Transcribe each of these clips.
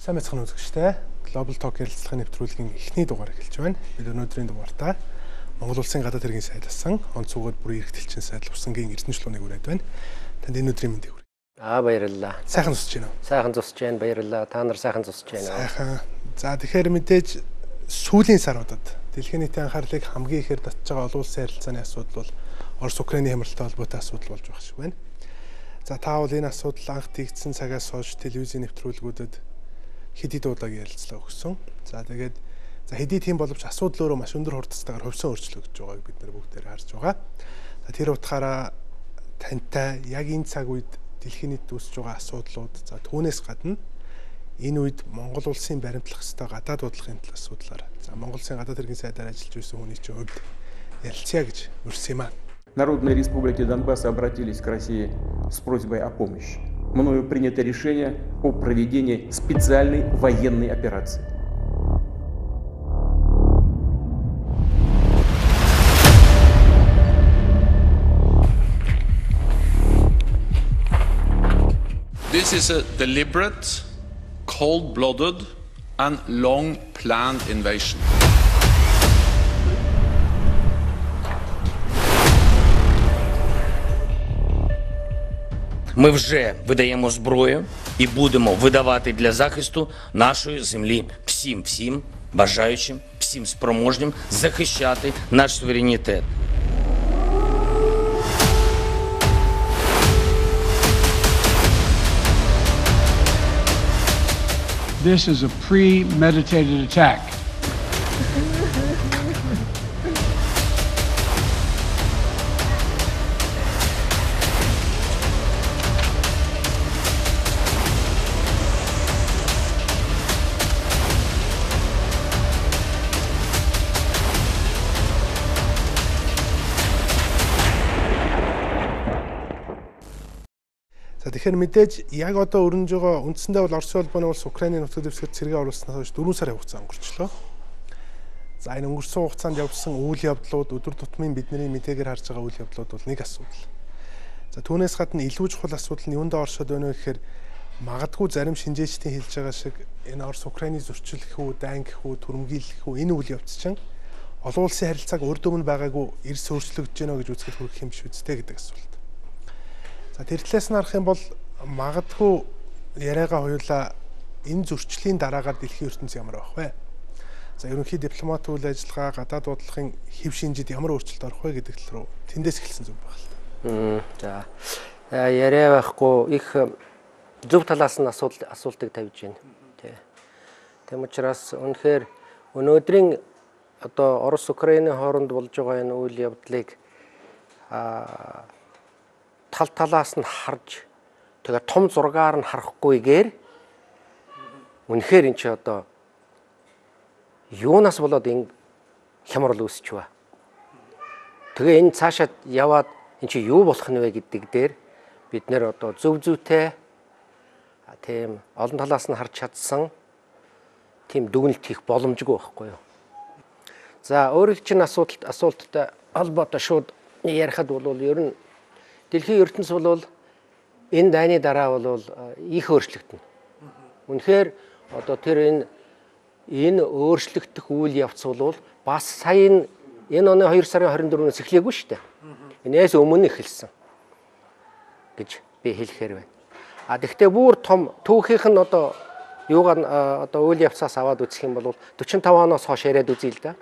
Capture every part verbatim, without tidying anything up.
Сайн мэцхан үзэгчтэй Global Talk ярилцлагын нэвтрүүлгийн эхний дугаар эхэлж байна. Бид өнөөдрийн дугаартаа Монгол Улсын гадаад хэргийн сайдсан онцгойд бүрийн эрхтэлчин сайдл Усангийн Эрдэнэ чулууныг хүрээд байна. Танд энэ өдрийн мэндийг хүргэе. Аа баярлалаа. Сайхан зусж байна уу? Сайхан зусж байна. Баярлалаа. Та нар сайхан зусж байна. Сайхан. За тэгэхээр мэдээж сүүлийн саруудад дэлхийн нийтийн анхаарлыг хамгийн ихээр татж байгаа олон улсын харилцааны асуудал бол Орос Украиний хямралтай холбоотой асуудал болж байгаа шиг байна. За та бол энэ асуудал анх тэгдсэн цагаас хойш телевизийн нэвтрүүлгүүдэд хэдий дуудаг ярилцлага өгсөн. За тэгээд за хэдий тийм боловч асуудал өөрөө маш өндөр хурдтайгаар хөвсөн өөрчлөгдөж байгааг бид нар бүгдээр харж байгаа. За тэр утгаараа тантай яг энэ цаг үед дэлхийн нийтэд үүсэж байгаа асуудлууд за түүнээс гадна энэ үед Монгол улсын баримтлах ёстой гадаад бодлогын талаас асуудлаар за Монгол улсын гадаад хэргийн сайдаар ажиллаж байсан хүний чинь хувьд ярилцъя гэж урьсан юм аа. Народные республики Донбасса обратились к России с просьбой о помощи. Мною принято решение о проведении специальной военной операции. This is a deliberate, cold-blooded and long-planned invasion. Ми вже видаємо зброю і будемо видавати для захисту нашої землі всім, всім бажаючим, всім спроможним захищати наш суверенітет. This is a premeditated attack. Тэгэхээр мэдээж яг одоо өрнөж байгаа үндсэндээ бол Оросын холбооны улс Украиний нутаг дэвсгэр цэргийн оруулснаас хойш дөрвөн сарын хугацаа өнгөрчлөө. За энэ өнгөрсөн хугацаанд явсан үйл явдлууд өдөр тутмын бидний мэдээгээр харж байгаа үйл явдлууд бол нэг асуудал. За түүнээс гадна илүү чухал асуудал нь юундаа оршоод байна вэ гэхээр магадгүй зарим шинжээчдийн хэлж байгаа шиг энэ Орос Украиний зөрчилөх үү, дайнгих үү, түрэмгийлэх үү энэ үйл явц чинь олон улсын харилцааг урд өмнө байгаагүй эрс өөрчлөгдөж байна гэж үзэхэд хүрэх юм биш үстэй гэдэг асуулт. За тэр талаас нь харах юм бол магадгүй яриагаа хоёулаа энэ зөрчлийн дараагаар дэлхийн ертөнц ямар байх вэ? За ерөнхий дипломат үйл ажиллагаа гадаад бодлогын хэв шинжид ямар өөрчлөлт орох вэ гэдэг тал руу тэндээс эхэлсэн зүг байна л та. За яриа байхгүй их зөв талаас нь асуудал асуултыг тавьж байна. Тэ. Тэм учраас үнэхээр өнөөдрийн одоо Орос Украины хооронд болж байгаа энэ үйл явдлыг аа тал талаас нь харж тэгээ том зургаар нь харахгүйгээр үнэхээр эн чи одоо юунаас болоод энэ хямрал үүсч ба. Тэгээ энэ цаашаа яваад эн чи юу болох нь вэ гэдэг дээр бид нэр одоо зөв зөвтэй тийм олон талаас нь харж чадсан тийм дүгнэлт хийх боломжгүй байхгүй юу. За өөрөөр чинь асуудалт асуулттай холбоотой шууд ярихад бол ер нь дэлхийн ертөнц бол энэ дайны дараа бол их өөрчлөгдөнө. Үнэхээр одоо тэр энэ энэ өөрчлөгдөх үйл явц бол бас сая энэ оны хоёр сарын хорин дөрвөөс эхлэегүй шүү дээ. Энээс өмнө эхэлсэн гэж би хэлэхээр байна. А тэгвэл бүр том түүхийнх нь одоо юугаар одоо үйл явцаас аваад үзэх юм бол дөрвөн таван оноос хойш яриад үзье л да.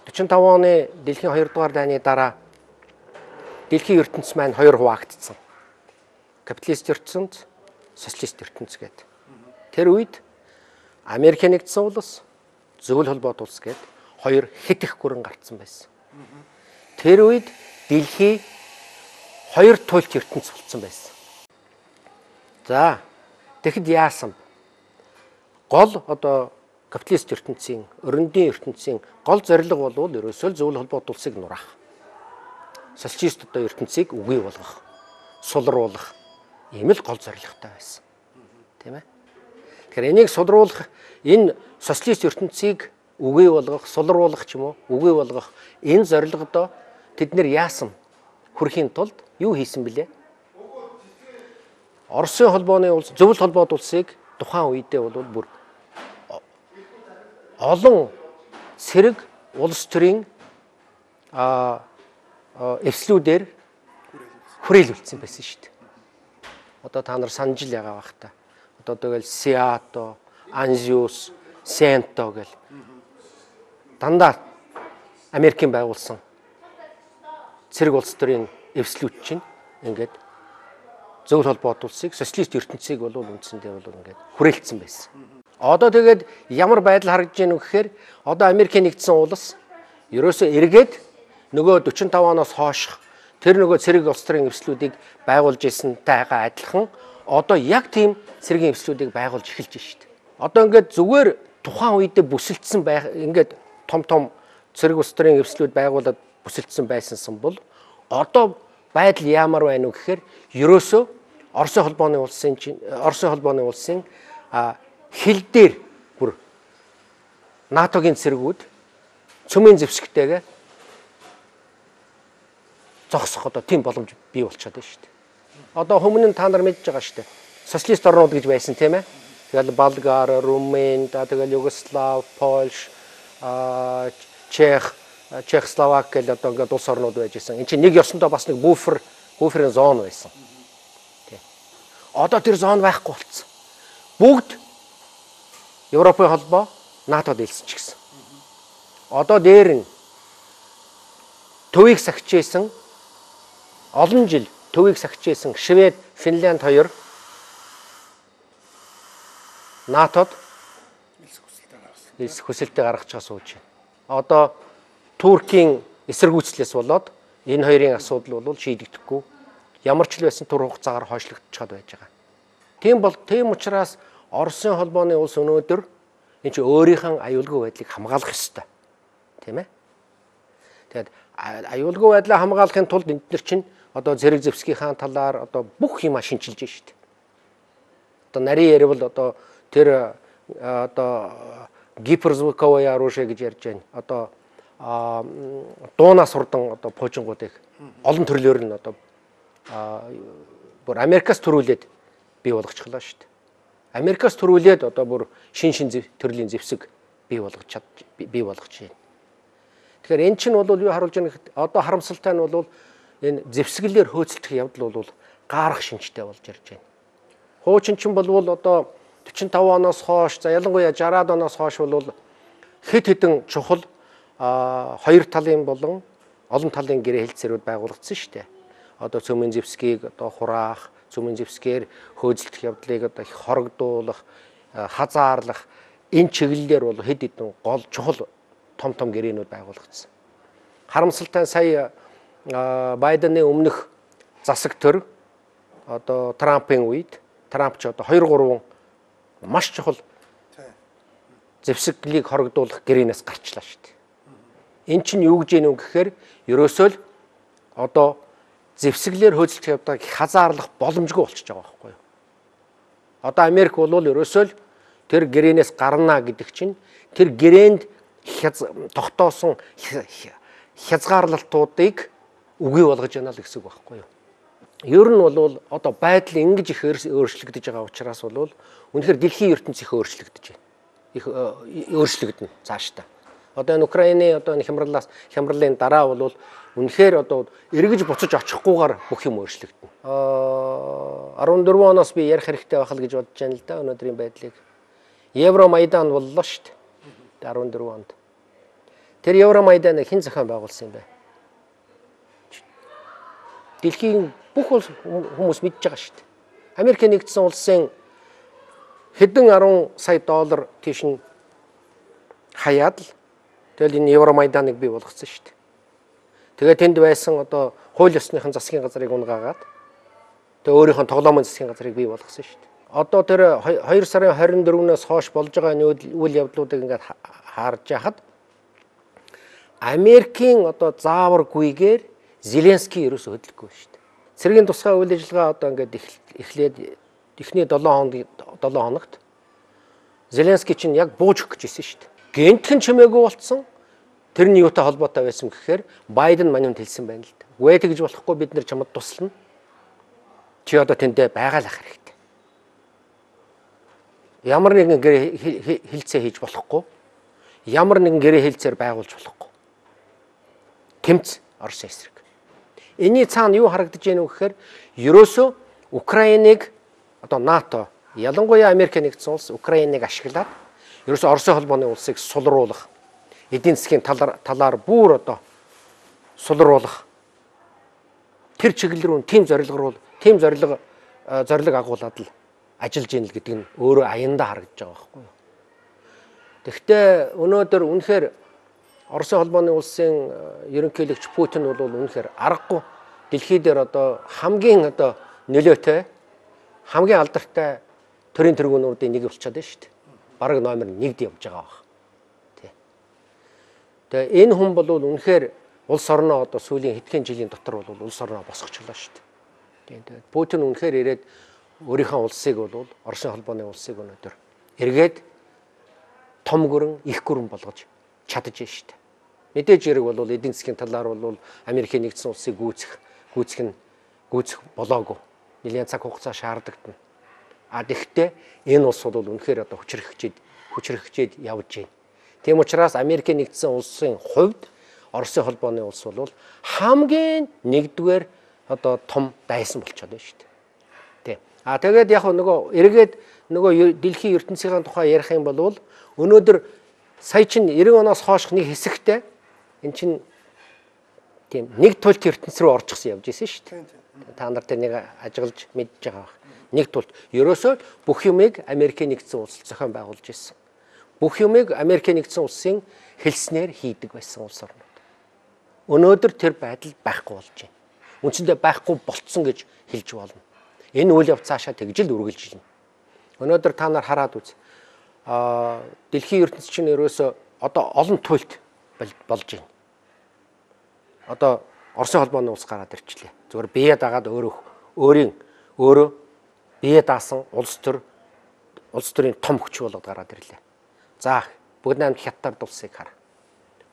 дөрвөн таван оны дэлхийн хоёр дугаар дайны дараа дэлхийн ертөнц маань хоёр хуваагдсан. Капиталист ертөнц, социалист ертөнц гэдэг. Тэр үед Америк нэгдсэн улс, зөвлөл холбоот улс гэдэг хоёр хит их гүрэн гарцсан байсан. Тэр үед дэлхий хоёр туйлт ертөнц болсон байсан. За, тэгэхэд яасан? Гол одоо капиталист ертөнцийн, өрөндийн ертөнцийн гол зорилго бол ерөөсөө зөвлөл холбоот улсыг нураах. Социалист одоо ертөнцийг үгүй болгох, сулруулах ийм л гол зорилготой байсан. Тийм ээ. Тэгэхээр энийг сулруулах, энэ социалист ертөнцийг үгүй болгох, сулруулах ч юм уу, үгүй болгох энэ зорилгодоо тэд нэр яасан хүрэхийн тулд юу хийсэн бэлээ? Оросын холбооны улс, зөвлөл холбоот улсыг тухайн үедээ бол бүр олон цэрэг улс төрийн а эвслүүдээр хүрээлүүлсэн байсан шүү дээ. Одоо та нар санаж л байгаа бах та. Одоо тэгэл Сиато, Анзиус, Сенто гэл дандаа Америкийн байгуулсан цэрэг улс төрийн эвслүүд чинь ингээд зөвлөл холбоот улсыг социалист ертөнцийг бол үндсэндээ бол ингээд хүрээлцсэн байсан. Одоо тэгээд ямар байдал харагдаж байна вэ гэхээр одоо Америкийн нэгдсэн улс ерөөсөө эргээд нөгөө forty-five оноос хойш тэр нөгөө цэрэг улс төрийн эвслүүдийг байгуулж ирсэнтэйгээ адилхан одоо яг тийм цэргийн эвслүүдийг байгуулж эхэлж байна шүү дээ. Одоо ингээд зүгээр тухайн үедээ бүсэлдсэн байх ингээд том том цэрэг улс төрийн эвслүүд байгуулад бүсэлдсэн байсансан бол одоо байдал ямар байна вэ гэхээр ерөөсөө Оросын холбооны улсын чинь Оросын холбооны улсын хил дээр бүр НАТОгийн цэргүүд цөмийн зэвсэгтэйгээ зогсох одоо тийм боломж бий болчиход байна шүү дээ. Одоо өмнө нь та нар мэдж байгаа шүү дээ. Социалист орнууд гэж байсан тийм ээ. Тэгэл Болгар, Румын, тэгэл Югослав, Польш, Чех, Чехословак гэл одоо ингээд улс орнууд байж байсан. Энд чинь нэг ёсондоо бас нэг буфер, буферын зон байсан. Тий. Одоо тэр зон байхгүй болцсон. Бүгд Европын холбоо НАТОд хэлсэн ч гэсэн. Одоо дээр нь төвийг сахижсэн олон жил төвийг сахижсэн Швед, Финлянд хоёр НАТОд хэлс хүсэлтээ гаргаж байгаа сууж байна. Одоо Туркийн эсэргүүцлээс болоод энэ хоёрын асуудал бол шийдэгдэхгүй. Ямар ч л байсан тур хугацаагаар хойшлогдчиход байж байгаа. Тийм бол тийм учраас Оросын холбооны улс өнөөдөр энэ чинь өөрийнх нь аюулгүй байдлыг хамгаалах ёстой. Тийм ээ. Тэгээд аюулгүй байдлаа хамгаалахын тулд энд нар чинь одоо зэрэг зэвсгийнхаа талаар одоо бүх юма шинжилж байна шүү дээ. Одоо нарийн ярил одоо тэр одоо гиперзвуковое оружие гэж ярьж байна. Одоо дуунаас хурдан одоо пуужингуудыг олон төрлөөр нь одоо бүр Америкаас төрүүлээд бий болгочихлоо шүү дээ. Америкаас төрүүлээд одоо бүр шин шин төрлийн зэвсэг бий болгож чад бий болгож байна. Тэгэхээр эн чинь бол юу харуулж байгаа гэхэд одоо харамсалтай нь бол энэ зэвсгэлээр хөөцөлдөх явдал бол гаарах шинжтэй болж ирж байна. Хуучин чинь бол одоо forty-five оноос хойш за ялангуяа sixty оноос хойш бол хэд хэдэн чухал хоёр талын болон олон талын гэрээ хэлцээрүүд байгуулагдсан шүү дээ. Одоо цөмийн зэвсгийг одоо хураах, цөмийн зэвсгээр хөөцөлдөх явдлыг одоо их хорогдуулах, хазаарлах энэ чиглэлээр бол хэд хэдэн гол чухал том том гэрээнүүд байгуулагдсан. Харамсалтай сая Байдены өмнөх засаг төр одоо Трампын үед Трамп ч одоо two three маш чухал зэвсгэлийг хорогдуулах гэрээнээс гарчлаа шүү дээ. Эн чинь юу гэж юм гэхээр ерөөсөө л одоо зэвсгэлээр хөөцөлдөх явдлыг хазаарлах боломжгүй болчихж байгаа байхгүй юу. Одоо Америк бол ерөөсөө л тэр гэрээнээс гарна гэдэг чинь тэр гэрээнд тогтоосон хязгаарлалтуудыг үгүй болгож яана л гэсэн үг байхгүй юу. Ер нь бол одоо байдал ингэж их өөрчлөгдөж байгаа учраас бол үнэхээр дэлхийн ертөнц их өөрчлөгдөж байна. Их өөрчлөгдөнө цаашдаа. Одоо энэ Украины одоо энэ хямралаас хямралын дараа бол үнэхээр одоо эргэж буцаж очихгүйгээр бүх юм өөрчлөгдөнө. Аа fourteen оноос би ярих хэрэгтэй байх л гэж бодож байна л да өнөөдрийн байдлыг. Евромайдан боллоо шүү дээ. fourteen онд. Тэр Евромайданыг хэн зохион байгуулсан юм бэ? Дэлхийн бүх хүмүүс мэдж байгаа шүү дээ. Америкийн нэгдсэн улсын хэдэн ten сая доллар тийш нь хаяад л тэгэл энэ Евромайданыг бий болгоцсон шүү дээ. Тэгээд тэнд байсан одоо хууль ёсныхын засгийн газрыг унгаагаад тэгээд өөрийнх нь тоглоомын засгийн газрыг бий болгосон шүү дээ. Одоо тэр two сарын twenty-fourноос хойш болж байгаа үйл явдлуудыг ингээд харж яхад Америкийн одоо зааваргүйгээр Зеленский ерөөсөө хөдөлгөхгүй шүү дээ. Цэргийн тусгай үйл ажиллагаа одоо ингээд эхлээд эхний seven хоногт Зеленский чинь яг бууж өгөх гэжсэн шүү дээ. Гэнтхэн чимээгүй болцсон. Тэрний юутай холбоотой байсан гэхээр Байден маньд хэлсэн байна л да. Үгүй тэгж болохгүй бид нэр чамд туслана. Чи одоо тэндээ байгаалах хэрэгтэй. Ямар нэгэн хилцээ хийж болохгүй. ямар нэгэн гэрээ хэлцээр байгуулж болохгүй. Тэмц Оросын эсрэг. Энийний цаана юу харагдаж байна вэ гэхээр ерөөсөө Украиныг одоо НАТО, ялангуяа Америк нэгдсэн улс Украиныг ашиглаад ерөөсөө Оросын холбооны улсыг сулруулах, эдийн засгийн талаар талаар бүр одоо сулруулах тэр чиглэл рүү тийм зорилго руу тийм зорилго зорилго агуулад л ажиллаж ийн л гэдэг нь өөрөө аяндаа харагдаж байгаа байхгүй юу. Тэгэхдээ өнөөдөр үнэхээр Оросын холбооны улсын ерөнхийлөгч Путин бол үнэхээр аргагүй дэлхий дээр одоо хамгийн одоо нөлөөтэй хамгийн алдартай төрийн тэргүүнүүдийн нэг болчиход байна шүү дээ. Бараг номер нэгд явж байгаа баг. Тий. Тэгээ энэ хүн бол үнэхээр улс орноо одоо сүүлийн хэдхэн жилийн дотор бол улс орноо босгочлоо шүү дээ. Тэгээд Путин үнэхээр ирээд өөрийнхөө улсыг бол Оросын холбооны улсыг өнөөдөр эргээд том гүрэн, их гүрэн болгож чадаж байна шүү дээ. Мэдээж хэрэг бол эдийн засгийн талаар бол Америкийн нэгдсэн улсыг гүйцэх, гүйцэх нь гүйцэх болоогүй. Нэлээд цаг хугацаа шаардагдана. А тэгэхдээ энэ улс бол үнэхээр одоо хүчрхэгчээд хүчрхэгчээд явж байна. Тийм учраас Америкийн нэгдсэн улсын хувьд Оросын холбооны улс бол хамгийн нэгдүгээр одоо том дайсан болчиход байна шүү дээ. Тий. А тэгээд яг нөгөө эргээд нөгөө дэлхийн ертөнцийн тухай ярих юм бол өнөөдөр сая чинь ninety оноос хойш нэг хэсэгтээ эн чинь тийм нэг тулт ертөнц рүү орчихсон явж исэн шүү дээ. Та нар тэр нэг ажиглаж мэдж байгаа баг. Нэг тулт ерөөсөө бүх юмыг Америкийн нэгдсэн улс зохион байгуулж ирсэн. Бүх юмыг Америкийн нэгдсэн улсын хэлснээр хийдэг байсан улс орнууд. Өнөөдөр тэр байдал байхгүй болж байна. Үндсэндээ байхгүй болцсон гэж хэлж болно. Энэ үйл явц цаашаа тэгж л үргэлжилнэ. Өнөөдөр та нар хараад үз. Аа дэлхийн ертөнц чинь ерөөсөө одоо олон туйлт болж байна. Одоо Оросын холбооны улс гараад ирчлээ. Зүгээр бие дагаад өөрөө өөрийн өөрөө бие даасан улс төр улс төрийн том хүч болоод гараад ирлээ. За бүгд найрамд хятад улсыг хар.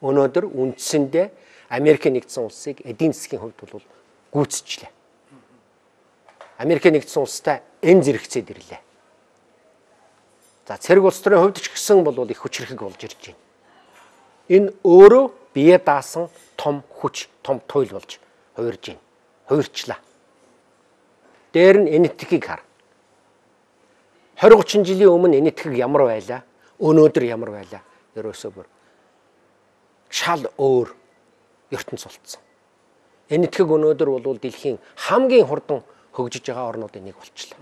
Өнөөдөр үндсэндээ Америкийн нэгдсэн улсыг эдийн засгийн хувьд бол гүйцэжлээ. Америкийн нэгдсэн улстай эн зэрэгцээд ирлээ. За цэрэг улс төрийн хувьд ч гэсэн бол их хүчрхэг болж ирж байна. Энэ өөрөө бие даасан том хүч, том туйл болж хувирж байна. Хувирчлаа. Дээр нь энэтхгийг хар. twenty thirty жилийн өмнө энэтхэг ямар байлаа? Өнөөдөр ямар байлаа? Ерөөсөө бүр шал өөр ертөнц болцсон. Энэтхэг өнөөдөр бол дэлхийн хамгийн хурдан хөгжиж байгаа орнуудын нэг болчихлоо.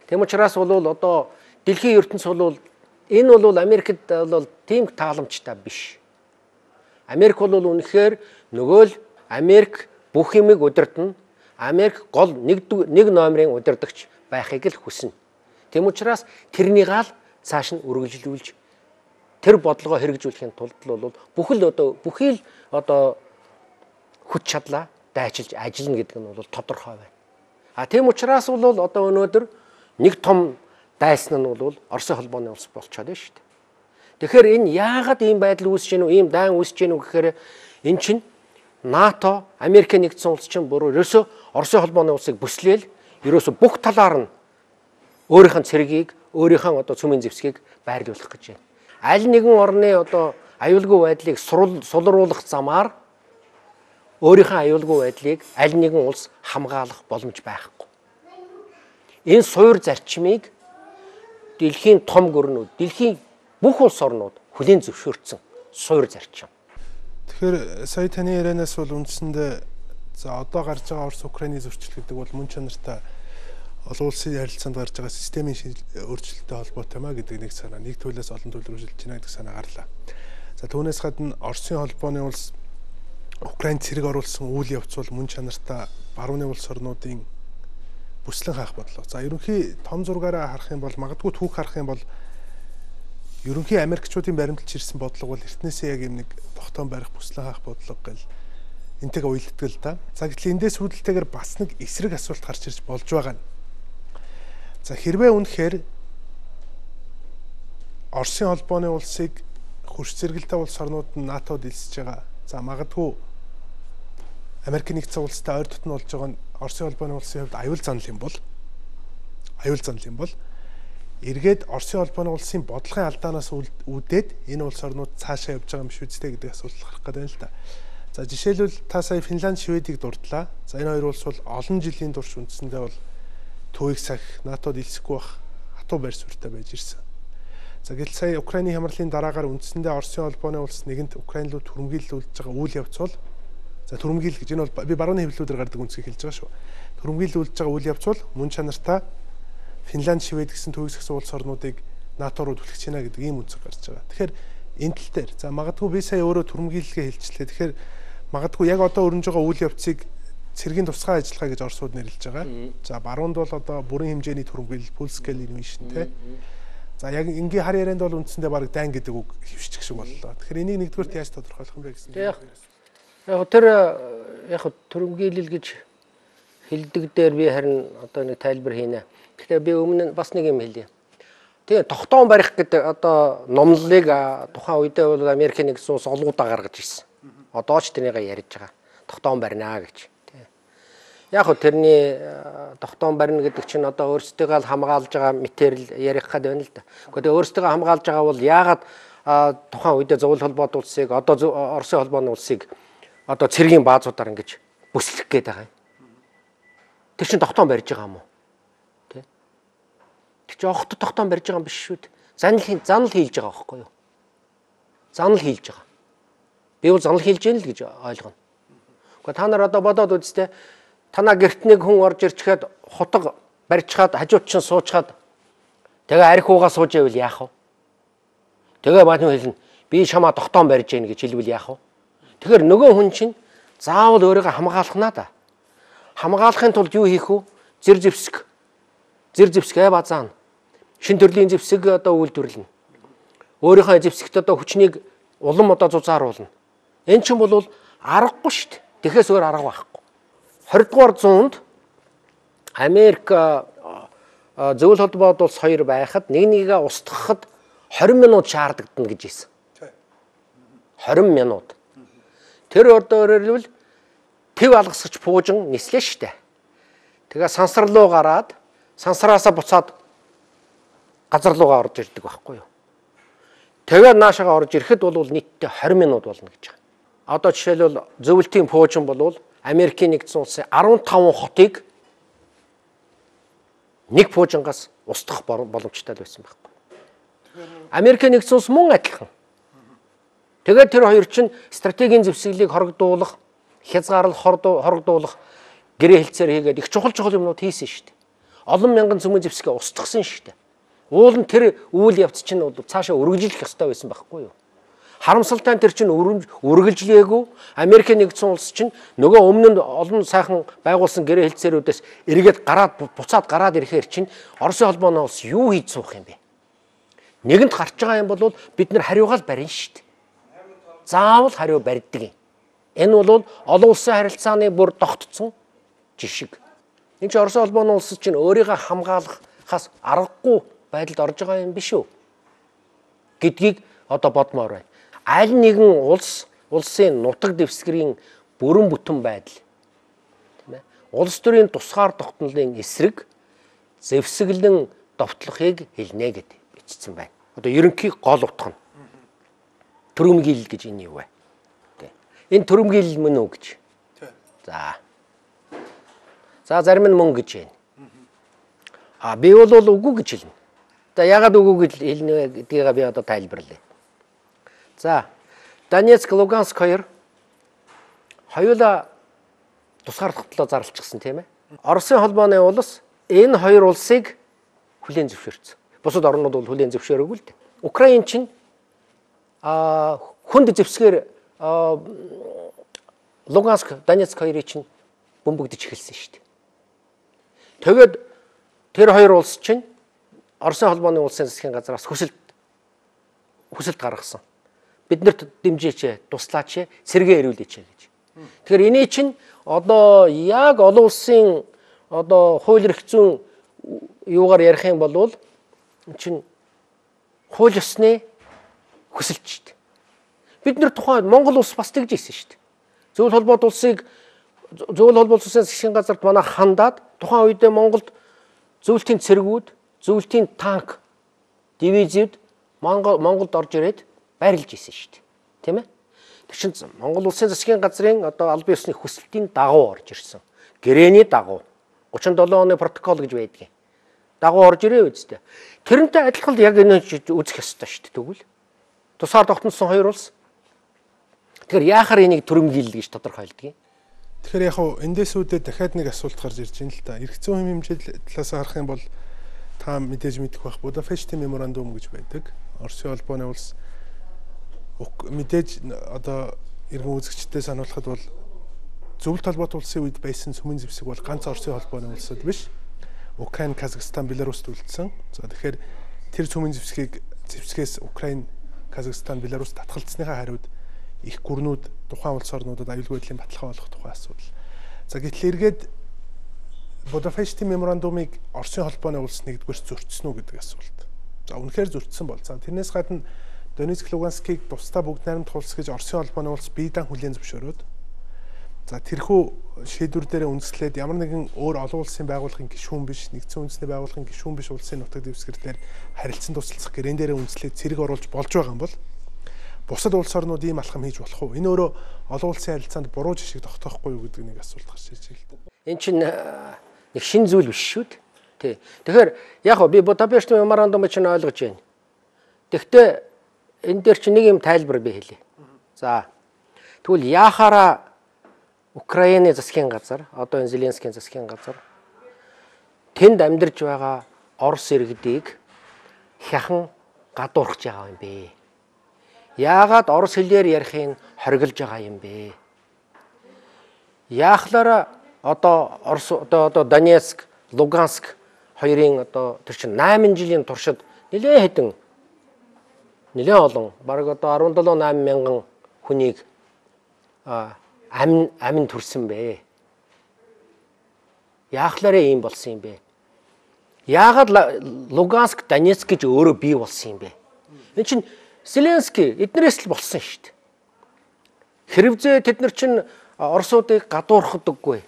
Тэм учраас бол одоо дэлхийн ертөнц бол энэ бол Америкт бол тийм тааламжтай биш. Америк бол үнэхээр нөгөө л Америк бүх юмыг удирдна. Америк гол нэг нэг номерын удирдагч байхыг л хүснэ. Тэм учраас тэрнийг ал цааш нь үргэлжлүүлж тэр бодлогоо хэрэгжүүлэхийн тулд бол бүхэл одоо бүхий л одоо хүч чадлаа дайчилж ажиллана гэдэг нь бол тодорхой байна. А тийм учраас бол одоо өнөөдөр нэг том дайсан нь бол Оросын холбооны улс болчиход байна шүү дээ. Тэгэхээр энэ яагаад ийм байдал үүсэж гэнэ үү, ийм дайн үүсэж гэнэ үү гэхээр эн чинь НАТО, Америкийн нэгдсэн улс чинь бүр ерөөсөө Оросын холбооны улсыг бүслээл ерөөсөө бүх талаар нь өөрийнх нь цэргийг, өөрийнх нь одоо цөмийн зэвсгийг байрлуулах гэж байна. Аль нэгэн орны одоо аюулгүй байдлыг сулруулах замаар өөрийнхөө аюулгүй байдлыг аль нэгэн улс хамгаалах боломж байхгүй. Энэ суур зарчмыг дэлхийн том гүрнүүд, дэлхийн бүх улс орнууд хүлээн зөвшөөрсөн суур зарчим. Тэгэхээр сая таны ярианаас бол үндсэндээ за одоо гарч байгаа Орос Украины зөрчил гэдэг бол мөн чанартай олон улсын харилцаанд гарч байгаа системийн өөрчлөлттэй холбоотой маа гэдэг нэг санаа, нэг төлөөс олон төлөв үргэлжилж байна гэдэг санаа гарлаа. За түүнээс гадна Оросын холбооны улс Украинд цэрэг оруулсан үйл явц бол мөн чанартай барууны улс орнуудын бүслэн хаах бодлоо. За ерөнхий том зургаараа харах юм бол магадгүй түүх харах юм бол ерөнхий Америкчуудын баримталж ирсэн бодлого бол эртнээсээ яг юм нэг тогтоон барих бүслэн хаах бодлого гэл энтэйг уялддаг л да. За гэтэл эндээс үүдэлтэйгээр бас нэг эсрэг асуулт гарч ирж болж байгаа нь. За хэрвээ үнэхээр Оросын холбооны улсыг хөрш зэрэгэлтэй улс орнууд нь НАТОд элсэж байгаа. За магадгүй Америкийн нэгдсэн улстай ойр дотн болж байгаа нь Оросын холбооны улсын хувьд аюул занал юм бол аюул занал юм бол эргээд Оросын холбооны улсын бодлогын алдаанаас үүдээд энэ улс орнууд цаашаа явж байгаа юм биш үстэй гэдэг асуулт гарах гэдэг л да. За жишээлбэл та сая Финланд, Шведийг дурдлаа. За энэ хоёр улс бол олон жилийн турш үндсэндээ бол төвийг сахих, НАТОд элсэхгүй байх хатуу байр суурьтай байж ирсэн. За гэтэл сая Украины хямралын дараагаар үндсэндээ Оросын холбооны улс нэгэнт Украин руу түрэмгийлүүлж байгаа үйл явц бол за түрэмгийл гэж энэ бол би барууны хэвлэлүүдээр гардаг үндсийг хэлж байгаа шүү. Түрэмгийлүүлж байгаа үйл явц бол мөн чанартай Финланд, Швед гэсэн төвийг сахсан улс орнуудыг НАТО руу түлхэж байна гэдэг ийм үнцэг гарч байгаа. Тэгэхээр энэ тал дээр за магадгүй би сая өөрөө түрэмгийлгээ хэлчихлээ. Тэгэхээр магадгүй яг одоо өрнөж байгаа үйл явцыг цэргийн тусгай ажиллагаа гэж Оросууд нэрлэж байгаа. За баруунд бол одоо бүрэн хэмжээний түрэмгийлэл full scale invasion те. За яг ингийн хар ярианд бол үндсэндээ баг дайн гэдэг үг хөвшчих шиг боллоо. Тэгэхээр энийг нэгдүгürt яаж тодорхойлох юм бэ гэсэн. Яг яг тэр яг түрэмгийлэл гэж хэлдэг дээр би харин одоо нэг тайлбар хийнэ. Тэгэхээр би өмнө бас нэг юм хэлье. Тэгээ тогтоон барих гэдэг одоо номлолыг тухайн үедээ бол Америкийн нэгдсэн улс олгуудаа гаргаж ирсэн. Одоо ч тэрнийг ярьж байгаа. Тогтоон барина гэж. Яг хөө тэрний тогтоон барина гэдэг чинь одоо өөрсдөө хамгаалж байгаа материал ярих гээд байна л да. Гэхдээ өөрсдөө хамгаалж байгаа бол яагаад тухайн үедээ зөвлөл холбоот улсыг одоо Оросын холбооны улсыг одоо цэргийн баазуудаар ингэж бүслэх гээд байгаа юм. Тэр чинь тогтоон барьж байгаа юм уу? Тэ? Тэр чинь огт тогтоон барьж байгаа юм биш шүү дээ. Занал занал хийлж байгаа байхгүй юу? Занал хийлж байгаа. Би бол занал хийлж яана л гэж ойлгоно. Гэхдээ та нар одоо бодоод үзтээ танаа гэрт нэг хүн орж ирчихэд хутаг барьчихад хажууд чинь суучгаад тэгээ арх уугаа сууж байвал яах вэ? Тэгээ баатны хэлнэ. Би чамаа тогтоон барьж яана гэж хэлвэл яах вэ? Тэгэхээр нөгөө хүн чинь заавал өөрийгөө хамгаалахнаа да. Хамгаалахын тулд юу хийх вэ? Зэр зэвсэг. Зэр зэвсэг аа базаана. Шин төрлийн зэвсэг одоо үйлдвэрлэнэ. Өөрийнхөө зэвсэгт одоо хүчнийг улам одоо зузааруулна. Энэ чинь бол аргагүй шүү дээ. Тэгэхээс өөр арга байхгүй. двадцать дугаар зуунд Америк зөвлөл холбоот улс хоёр байхад нэг нэгээ устгахад двадцать минут шаардагдана гэж хэлсэн. двадцать минут. Тэр ордоор хэлбэл төв алгасгч пуужин нислээ штэ. Тэгээ сансар руу гараад сансараасаа буцаад газар руугаа орж ирдэг байхгүй юу. Тэгээ наашаага орж ирэхэд бол нийтдээ двадцать минут болно гэж байгаа. Одоо жишээлбэл зөвлөлтийн пуужин бол Америкийн нэгдсэн улсын fifteen хотыг нэг пуужингаас устгах боломжтой байсан байхгүй. Америкийн нэгдсэн улс мөн адилхан. Тэгээд тэр хоёр чинь стратегийн зэвсэглийг хорогдуулах, хязгаарлах, хорогдуулах гэрээ хэлцээр хийгээд их чухал чухал юмнууд хийсэн шүү дээ. Олон мянган цөмийн зэвсгээ устгасан шүү дээ. Уул нь тэр үйл явц чинь цаашаа үргэлжлэх ёстой байсан байхгүй юу? Харамсалтай нь тэр чинь үргэлжлээгүй. Америкийн нэгдсэн улс чинь нөгөө өмнө нь олон сайхан байгуулсан гэрээ хэлцээрүүдээс эргээд гараад буцаад гараад ирэхээр чинь Оросын холбооны улс юу хийж суух юм бэ? Нэгэнт гарч байгаа юм бол бид нар хариугаал барина шүү дээ. Заавал хариу барьдаг юм. Энэ бол олон улсын харилцааны бүр тогтцсон жишг. Энэ чинь Оросын холбооны улс чинь өөрийгөө хамгаалахаас аргагүй байдалд орж байгаа юм биш үү? Гэдгийг одоо бодмоор байна. Аль нэгэн улс улсын нутаг дэвсгэрийн бүрэн бүтэн байдал тийм ээ. Улс төрийн тусгаар тогтнолын эсрэг зэвсэглэн довтлохыг хэлнэ гэд бичсэн байна. Одоо ерөнхий гол утга нь түрэмгийлэл гэж энэ юу вэ? Энэ түрэмгийлэл мөн үү гэж. За. За зарим нь мөн гэж байна. А би бол үгүй гэж хэлнэ. За ягаад үгүй гэж хэлнэ гэдгийг би одоо тайлбарлая. За Донецк, Луганск хоёр хоёулаа тусгаар тогтлоо зарлчихсан тийм ээ. Оросын холбооны улс энэ хоёр улсыг хүлээн зөвшөөрсөн. Бусад орнууд бол хүлээн зөвшөөрөөгүй л дээ. Украин чинь а хүнд зэвсгээр Луганск, Донецк хоёрыг чинь бөмбөгдөж эхэлсэн шүү дээ. Тэгээд тэр хоёр улс чинь Оросын холбооны улсын засгийн газраас хүсэлт хүсэлт гаргасан. Биднэрт дэмжээч, туслаач, сэргээ ирүүлээч гэж. Тэгэхээр энэ чинь одоо яг олон улсын одоо хууль эрх зүйн юугаар ярих юм бол чинь хууль ёсны хүсэлт шүү дээ. Бид нар тухайн Монгол улс бас тэгж ийсэн шүү дээ. Зөвлөл холбоот улсыг зөвлөл холбоот улсын засгийн газарт манай хандаад тухайн үедээ Монголд зөвлөлтийн цэргүүд, зөвлөлтийн танк дивизиуд Монгол Монголд орж ирээд байрлаж исэн шүү дээ. Тийм ээ? Тэр чинь Монгол улсын засгийн газрын одоо албан ёсны хүсэлтийн дагуу орж ирсэн. Гэрээний дагуу гучин долоо оны протокол гэж байдгийг. Дагуу орж ирээ үсттэй. Тэрнтэй адилхан яг энэ үзэх ёстой шүү дээ тэгвэл. Тусаар тогтносон хоёр улс. Тэгэхээр яахаар энийг түрэмгийлэл гэж тодорхойлдог юм. Тэгэхээр яг хуу эндээс үүдээ дахиад нэг асуулт гарч ирж байна л да. Эрх зүйн хэмжээ талаас харах юм бол та мэдээж мэдэх байх. Будапештийн меморандум гэж байдаг. Оросын холбооны улс мэдээж одоо иргэн үзэгчдээ сануулхад бол зөвлөлт холбоот улсын үед байсан сүмэн зэвсэг бол ганц Оросын холбооны улсад биш. Украин, Казахстан, Беларуст үлдсэн. За тэгэхээр тэр сүмэн зэвсгийг зэвсгээс Украин, Казахстан, Беларуст татгалцсныхаа хариуд их гүрнүүд тухайн улс орнуудад аюулгүй байдлын баталгаа болох тухай асуудал. За гэтэл эргээд Будапештийн меморандумыг Оросын холбооны улс нэгдүгээр зөрчсөн үү гэдэг асуулт. За үнэхээр зөрчсөн бол. За тэрнээс гадна Донецк, Луганскийг тусдаа бүгд найрамдах улс гэж Оросын холбооны улс биедан хүлээн зөвшөөрөөд за тэрхүү шийдвэр дээр үндэслээд ямар нэгэн өөр олон улсын байгууллагын гишүүн биш, нэгдсэн үндэсний байгууллагын гишүүн биш улсын нутаг дэвсгэр дээр харилцан туслах гэрэн дээр үндэслээд цэрэг оруулж болж байгаа юм бол бусад улс орнууд ийм алхам хийж болох уу? Энэ өөрөө олон улсын харилцаанд буруу жишг тогтоохгүй юу гэдэг нэг асуулт гарч ирж байна л да. Энэ чинь нэг шин зүйл биш шүү дээ. Тий. Тэгэхээр яг гоо би Будапешт меморандумыг чинь ойлгож байна. Тэгэхдээ энэ дээр чинь нэг юм тайлбар би хэлье. За. Тэгвэл яахаараа Украины засгийн газар, одоо энэ Зеленскийн засгийн газар тэнд амьдарч байгаа Орос иргэдийг хяхан гадуурхаж байгаа юм бэ? Яагаад орос хэлээр ярихыг хориглож байгаа юм бэ? Яахлаараа одоо Орос одоо одоо Донецк, Луганск хоёрын одоо тэр чинь найман жилийн туршид нэлээд хэдэн нэлээд олон бараг одоо арван долоо найман мянган хүнийг амин амин төрсөн бэ. Яахлаараа ийм болсон юм бэ? Яагаад Луганск, Донецк гэж өөрөө бий болсон юм бэ? Энэ чинь Зеленский эднэрээс л болсон шүү дээ. Хэрвээ тэд нар чинь Оросуудыг гадуурхадаггүй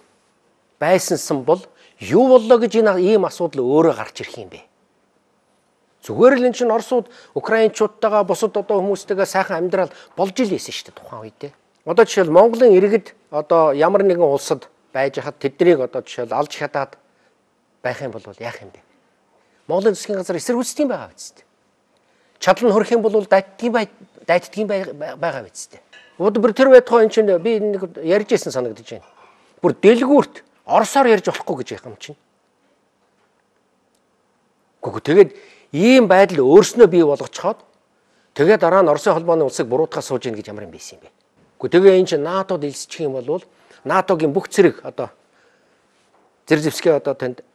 байсансан бол юу боллоо гэж энэ ийм асуудал өөрөө гарч ирэх юм бэ? Зүгээр л энэ чинь Оросууд Украинчуудтайгаа бусад одоо хүмүүстэйгээ сайхан амьдрал болж ил ийсэн шүү дээ тухайн үедээ. Одоо жишээл Монголын иргэд одоо ямар нэгэн улсад байж хад тэднийг одоо жишээл алж хадаад байх юм бол яах юм бэ? Монголын засгийн газар эсэргүүцдэг юм байгаа биз дээ. Чадал нь хөрөх юм бол дайддгийн бай дайддгийн байгаа биз дээ. Өөр тэр байтугай энэ чинь би нэг ярьж ирсэн санагдаж байна. Бүр дэлгүүрт Оросоор ярьж болохгүй гэж яах юм чинь. Гэхдээ тэгээд ийм байдал өөрснөө бий болгоцоход тэгээд дараа нь Оросын холбооны улсыг буруутгах сууж ийн гэж ямар юм байсан юм бэ? Гэхдээ тэгээ энэ чинь НАТОд элсчих юм бол НАТОгийн бүх зэрэг одоо зэрэг зэвсгээ одоо танд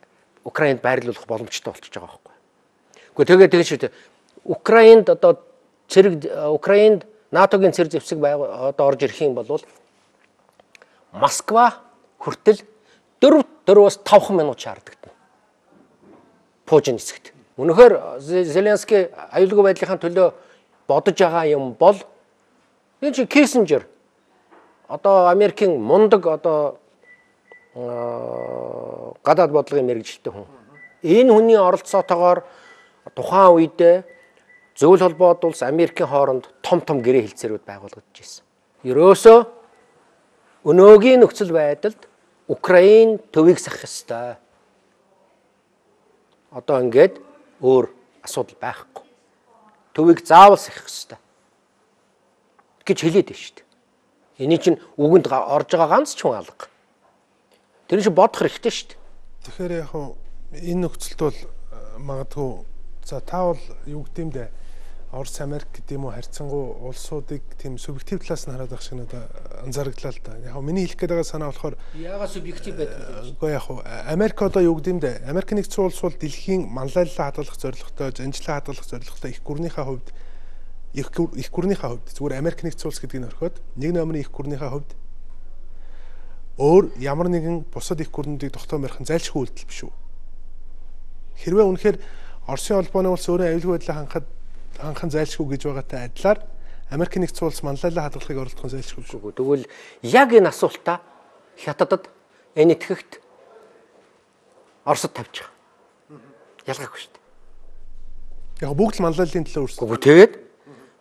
Украинд байрлуулах боломжтой болчихж байгаа байхгүй. Гэхдээ тэгээ тэгж шүү дээ. Украинд одоо зэрэг Украинд НАТОгийн зэрэг зэвсэг одоо орж ирэх юм бол Москва хүртэл дөрвөөс тавхан минут шаарддаг. Путин хэсэгт. Үнэхээр Зеленский аюулгүй байдлын төлөө бодож байгаа юм бол энэ чинь Киссинжер одоо Америкийн мундаг одоо гадаад бодлогын мэргэжилтэй хүн. Энэ хүний оролцоотойгоор тухайн үедээ зөвлөл холбоот улс Америкийн хооронд том том гэрээ хэлцээрүүд байгуулагдаж ирсэн. Ерөөсөө өнөөгийн нөхцөл байдалд Украин төвийг сахах ёстой. Одоо ингээд өөр асуудал байхгүй. Төвийг заавал сахих ёстой гэж хэлээд байна шүү дээ. Эний чинь үгэнд орж байгаа ганц ч хүн алга. Тэр чинь бодох хэрэгтэй шүү дээ. Тэгэхээр яг энэ нөхцөлд бол магадгүй за та бол юу гэдэм бэ? Орос Америк гэдэг юм уу харьцангуй улсуудыг тийм субъектив талаас нь хараад байх шиг надад анзаарагдлаа л да. Яг миний хэлэх гээд байгаа санаа болохоор яагаад субъектив байдаг вэ? Үгүй яг Америк одоо юу гэдэм бэ? Америк нэгдсэн улс бол дэлхийн манлайлалаа хадгалах зорилготой, жанжлаа хадгалах зорилготой их гүрнийхээ хувьд их их гүрнийхээ хувьд зүгээр Америк нэгдсэн улс гэдгийг орхиод нэг номерын их гүрнийхээ хувьд өөр ямар нэгэн бусад их гүрнүүдийг тогтоон барих нь зайлшгүй үйлдэл биш үү? Хэрвээ үнэхээр Оросын холбооны улс өөрөө аюулгүй байдлаа хангахад ханхан зайлшгүй гэж байгаатай адилаар Америк нэгдсэн улс манлайлалаа хадгалахыг оролдох нь зайлшгүй шүү. Тэгвэл яг энэ асуултаа Хятадд энэ итгэхт Оросд тавьж байгаа. Ялгаагүй шүү дээ. Яг бүгд л манлайлалын төлөө өрсөлдсөн. Гэхдээ тэгээд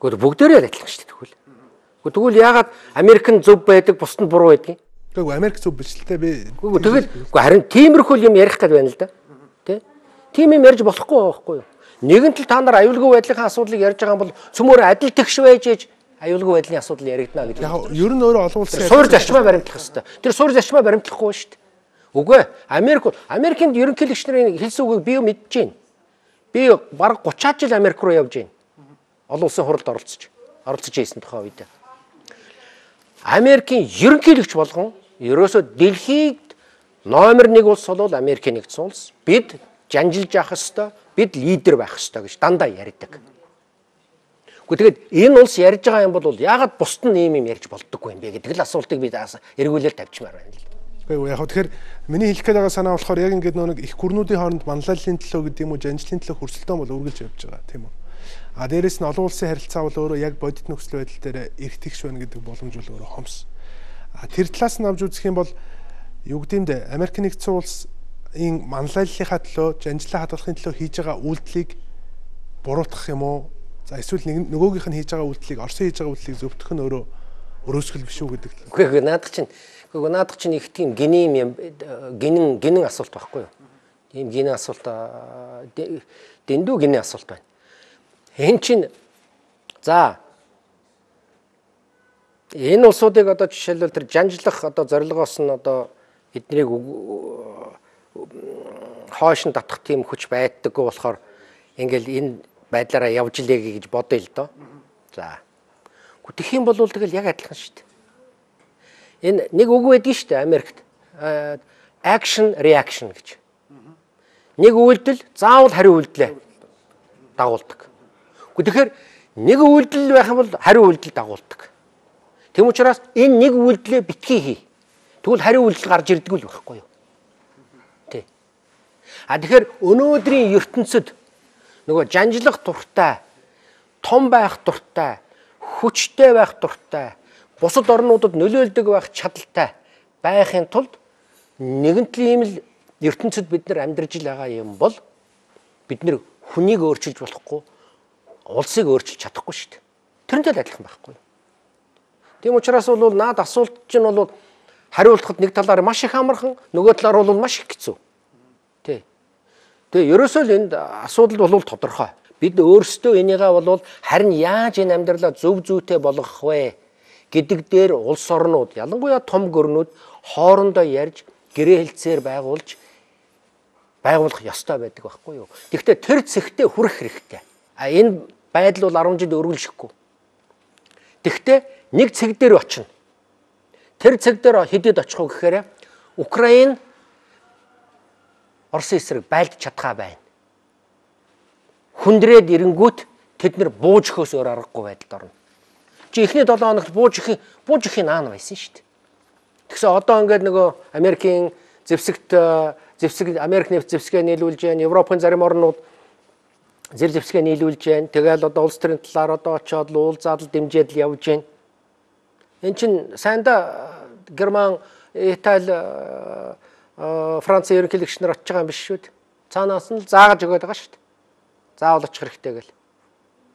гэхдээ бүгдээрээ адилхан шүү дээ тэгвэл. Гэхдээ тэгвэл яагаад Америк нь зөв байдаг, бусд нь буруу байдаг юм? Гэхдээ Америк зөв биш л дээ би. Үгүй тэгэл үгүй харин тиймэрхүү юм ярих гээд байна л да. Тэ? Тийм юм ярьж болохгүй байхгүй юу? Нэгэн тал та нар аюулгүй байдлын асуудлыг ярьж байгаа юм бол цөмөр адил тэгш байж ээж аюулгүй байдлын асуудал яригдана гэдэг. Яг ер нь өөрөө олон улсын суур зарчмаа баримтлах хэрэгтэй. Тэр суур зарчмаа баримтлахгүй шүү дээ. Үгүй Америк Америкийн ерөнхийлөгч нарын хэлсэн үгийг би мэдэж байна. Би бараг гуцаад жил Америк руу явж байна. Олон улсын хуралд оролцож оролцож байсан тухай үед. Америкийн ерөнхийлөгч болгон ерөөсөө дэлхийд номер нэг улс бол Америкийн нэгдсэн улс. Бид жанжилж явах ёстой, бид лидер байх ёстой гэж дандаа ярьдаг. Гэхдээ тэгээд энэ улс ярьж байгаа юм бол яагаад бусд нь ийм юм ярьж болдоггүй юм бэ гэдэг л асуултыг би эргүүлэл тавьчмаар байна л. Гэхдээ яг тэгэхээр миний хэлэх гээд байгаа санаа болохоор яг ингээд нэг их гүрнүүдийн хооронд манлайлалын төлөө гэдэг юм уу, жанжлын төлөө хөрсөлтөө бол үргэлж явж байгаа тийм үү. А дээрэс нь олон улсын харилцаа бол өөрөө яг бодит нөхцөл байдал дээр эрт тэгш байна гэдэг боломж бол өөрөө хомс. А тэр талаас нь авч үзэх юм бол юу гэдэмдэ Америк нэгдсэн улсын манлайллынхаа төлөө, жанжлаа хадгалахын төлөө хийж байгаа үйлдэлийг буруутгах юм уу? За эсвэл нэг нөгөөгийнх нь хийж байгаа үйлдэлийг Оросын хийж байгаа үйлдэлийг зөвтгөх нь өөрөө өрөөсгөл биш үү гэдэг. Үгүй наадах чинь үгүй наадах чинь их тийм гинэм юм гинэн гинэн асуулт байхгүй юу? Тийм гинэн асуулт дэндүү гинэн асуулт байна. Энэ чинь за энэ улсуудыг одоо жишээлбэл тэр жанжлах одоо зорилгоос нь одоо эднийг хойш нь татах тийм хүч байдаггүй болохоор ингээл энэ байдлаараа явж илээ гэж бодъё л доо. За. Тэгэх юм бол тэгэл яг адилхан шүү дээ. Энэ нэг үг байдаг шүү дээ Америкт. Action reaction гэж. Нэг үйлдэл заавал хариу үйлдэлээ дагуулдаг. Тэгэхээр нэг үйлдэл байх юм бол хариу үйлдэл дагуулдаг. Тэм учраас энэ нэг үйлдэлээ битгий хий. Тэгвэл хариу үйлдэл гарч ирдэг л байхгүй юу? Тэ. А тэгэхээр өнөөдрийн ертөнцид нөгөө жанжлах дуртай, том байх дуртай, хүчтэй байх дуртай, бусад орнуудад нөлөөлдөг байх чадaltaй байхын тулд нэгэн тийм л ертөнцид бид нар амьдарч байгаа юм бол бид нар хүнийг өөрчилж болохгүй, улсыг өөрчилж чадахгүй шүү дээ. Тэрнтэй л адилхан байхгүй юу? Тийм учраас бол наад асуулт чинь бол хариулахад нэг талаар маш их амархан, нөгөө талаар бол маш их хэцүү. Тэ. Тэгээ ерөөсөө л энд асуудал бол тодорхой. Бид өөрсдөө энийгээ бол харин яаж энэ амьдралаа зөв зүйтэй болгох вэ гэдэг дээр улс орнууд, ялангуяа том гүрнүүд хоорондоо ярьж гэрээ хэлцээр байгуулж байгуулах ёстой байдаг байхгүй юу? Тэгэхдээ тэр цэгтээ хүрэх хэрэгтэй. А энэ байдал бол арван жил өргөлшөхгүй. Тэгэхдээ нэг цэг дээр очино. Тэр цэг дээр хэдэд очих уу гэхээр Украин Оросын эсрэг байлдаж чадхаа байна. Хүндрээд ирэнгүүт тэд нэр бууж өгөхөөс өөр аргагүй байдалд орно. Чи эхний долоо хоногт бууж өгөх бууж өгөхийн наан байсан шүү дээ. Тэгсэн одоо ингээд нөгөө Америкийн зэвсэгт зэвсэг Америк нефт зэвсгээ нийлүүлж байна. Европын зарим орнууд зэр зэвсгээ нийлүүлж байна. Тэгэл одоо улс төрийн талаар одоо очиод уул задал дэмжээд л явж байна. Энд чинь сайнда Герман, Итали, Франц ерөнхийлөгч нар очиж байгаа юм биш шүү дээ. Цаанаас нь заагаж өгöd байгаа шүү дээ. Заавал очих хэрэгтэй гэл.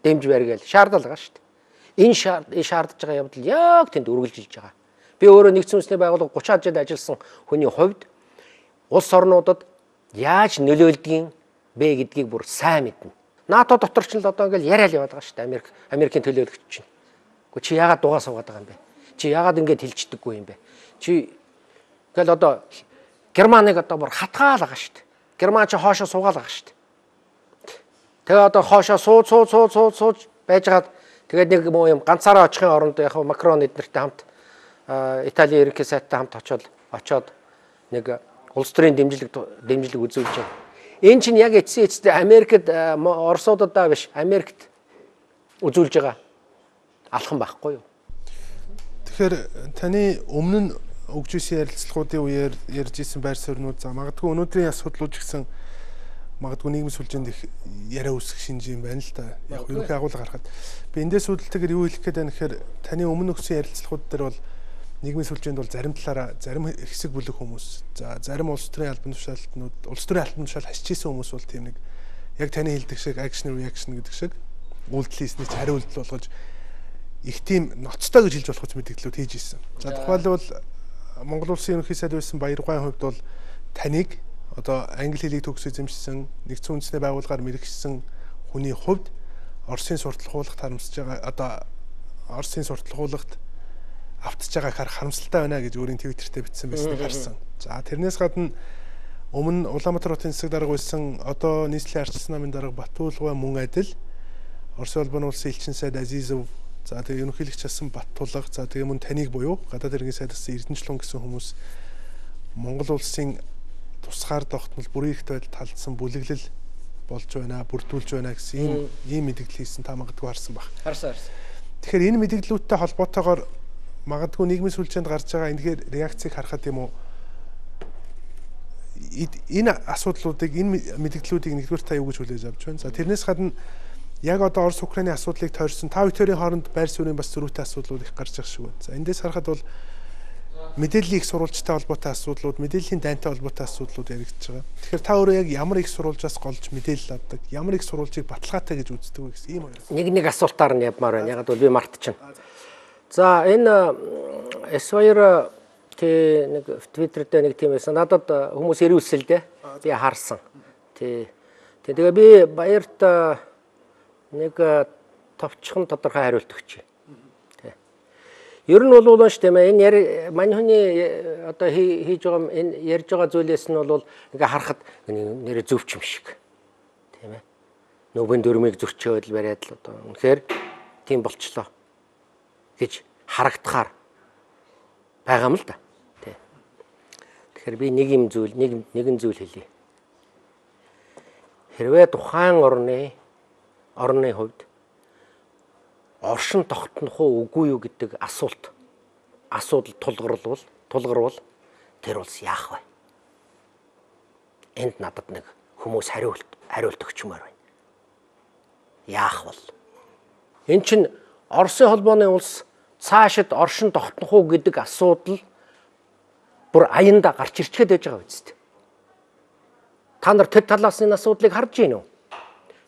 Дэмж барьгээл шаардал байгаа шүү дээ. Энэ шаардж байгаа явдал яг тэнд үргэлжилж байгаа. Би өөрөө нэгдсэн үндэсний байгууллага гучаад жил ажилласан хүний хувьд улс орнуудад яаж нөлөөлдгийг бэ гэдгийг бүр сайн мэднэ. НАТО дотор ч л одоо ингээл яриад яваад байгаа шүү дээ. Америк Америкийн төлөөлөгч чинь. Гэхдээ чи яагаад дугаа суугаад байгаа юм бэ? Чи яагаад ингэж хэлчихдэггүй юм бэ? Чи ингээл одоо Германыг одоо бүр хатгаал байгаа шүү дээ. Герман ч хоошоо суугаал байгаа шүү дээ. Тэгээ одоо хоошоо суу суу суу суу сууж байжгаад тэгээд нэг юм ганцаараа очихын оронд яг Макрон эднэртэй хамт Италийн ерөнхий сайтай хамт очиод очиод нэг улс төрийн дэмжлэг дэмжлэг үзүүлж байна. Энэ чинь яг эцсийн эцэстээ Америкт Оросуудад биш Америкт үзүүлж байгаа алхан байхгүй юу? Тэгэхээр таны өмнө нь өгж исэн ярилцлагуудын үеэр ярьж исэн байр суурьнууд за магадгүй өнөөдрийн асуудлууд ч гэсэн магадгүй нийгмийн сүлжээнд их яриа үүсэх шинж юм байна л да. Яг ерөнхий агуулга харахад би эндээс үүдэлтэйгээр юу хэлэх гээд байна гэхээр таны өмнө өгсөн ярилцлагууд дээр бол нийгмийн сүлжээнд бол зарим талаараа зарим хэсэг бүлэг хүмүүс за зарим улс төрийн албан тушаалтнууд улс төрийн албан тушаал хасчихсан хүмүүс бол тийм нэг яг таны хэлдэг шиг action reaction гэдэг шиг үйлдэл хийсний ч хариу үйлдэл болгож их тийм ноцтой гэж хэлж болох мэдээлэлүүд хийж ирсэн. За тухайлбал Монгол улсын ерөнхий сайд байсан Баяргойн хувьд бол таныг одоо англи хэлийг төгс эзэмшсэн нэгдсэн үндэсний байгууллагаар мэрэгчсэн хүний хувьд Оросын сурталхуулагт харамсаж байгаа одоо Оросын сурталхуулагт автж байгааг харах харамсалтай байна гэж өөрийн твиттертэй бичсэн байсныг харсан. За тэрнээс гадна өмнө Улаанбаатар хотын засаг дарга байсан одоо нийслэлийн арчилсан намын дарга Батулгай мөн адил Оросын улбаны улсын элчин сайд Азизов за тэгээ ерөнхийлөгч асан Баттулга за тэгээ мөн таныг буюу гадаад иргэн сайдаас Эрдэнэчлэн гэсэн хүмүүс Монгол улсын тусгаар тогтмол бүрийн ихтэй байдал талдсан бүлэглэл болж байна, бүрдүүлж байна гэсэн ийм ийм мэдээлэл хийсэн та магадгүй харсан баг. Харсан харсан. Тэгэхээр энэ мэдээллүүдтэй холбоотойгоор магадгүй нийгмийн сүлжээнд гарч байгаа энэгээр реакцийг харахад юм уу энэ асуудлуудыг энэ мэдээллүүдийг нэгдүгээр та юу гэж хүлээж авч байна. За тэрнээс гадна яг одоо Орос Украины асуудлыг тойрсон та бүхэн хооронд байр суурийн бас зөрүүтэй асуудлууд их гарч байгаа шиг байна. За эндээс харахад бол мэдээллийн их сурвалжтай холбоотой асуудлууд, мэдээллийн дайнтай холбоотой асуудлууд яригдж байгаа. Тэгэхээр та өөрөө яг ямар их сурвалжаас голж мэдээлэл авдаг, ямар их сурвалжийг баталгаатай гэж үздэг вэ гэсэн ийм хоёр. Нэг нэг асуултаар нь явмаар байна. Яг бол би мартчихна. За энэ эс хоёр тий нэг Twitter дээр нэг тийм байсан. Надад хүмүүс ирүүлсэн л дээ. Би харсан. Тий. Тэгээ би баярт нэг товчхон тодорхой хариулт өгч. Тий. Ер нь бол унш тийм ээ энэ мань хүний одоо хийж байгаа энэ ярьж байгаа зүйлээс нь бол ингээ харахад нэрэ зөвч юм шиг. Тийм ээ. Нүбэн дөрмийг зөрчөөд л бариад л одоо үнэхээр тийм болчлоо гэж харагдахаар байгаа юм л да. Тий. Тэгэхээр би нэг юм зүйл нэг нэгэн зүйл хэлье. Хэрвээ тухайн орны орны хувьд оршин тогтнох уу үгүй юу гэдэг асуулт асуудал тулгарвал тулгарвал тэр улс яах вэ? Энд надад нэг хүмүүс хариулт хариулт өгчмөр байна. Яах бол? Эн чинь Оросын холбооны улс цаашид оршин тогтнох уу гэдэг асуудал бүр аянда гарч ирчихэд байж байгаа үст. Та нар тэр талаас нь асуудлыг харж гин үү?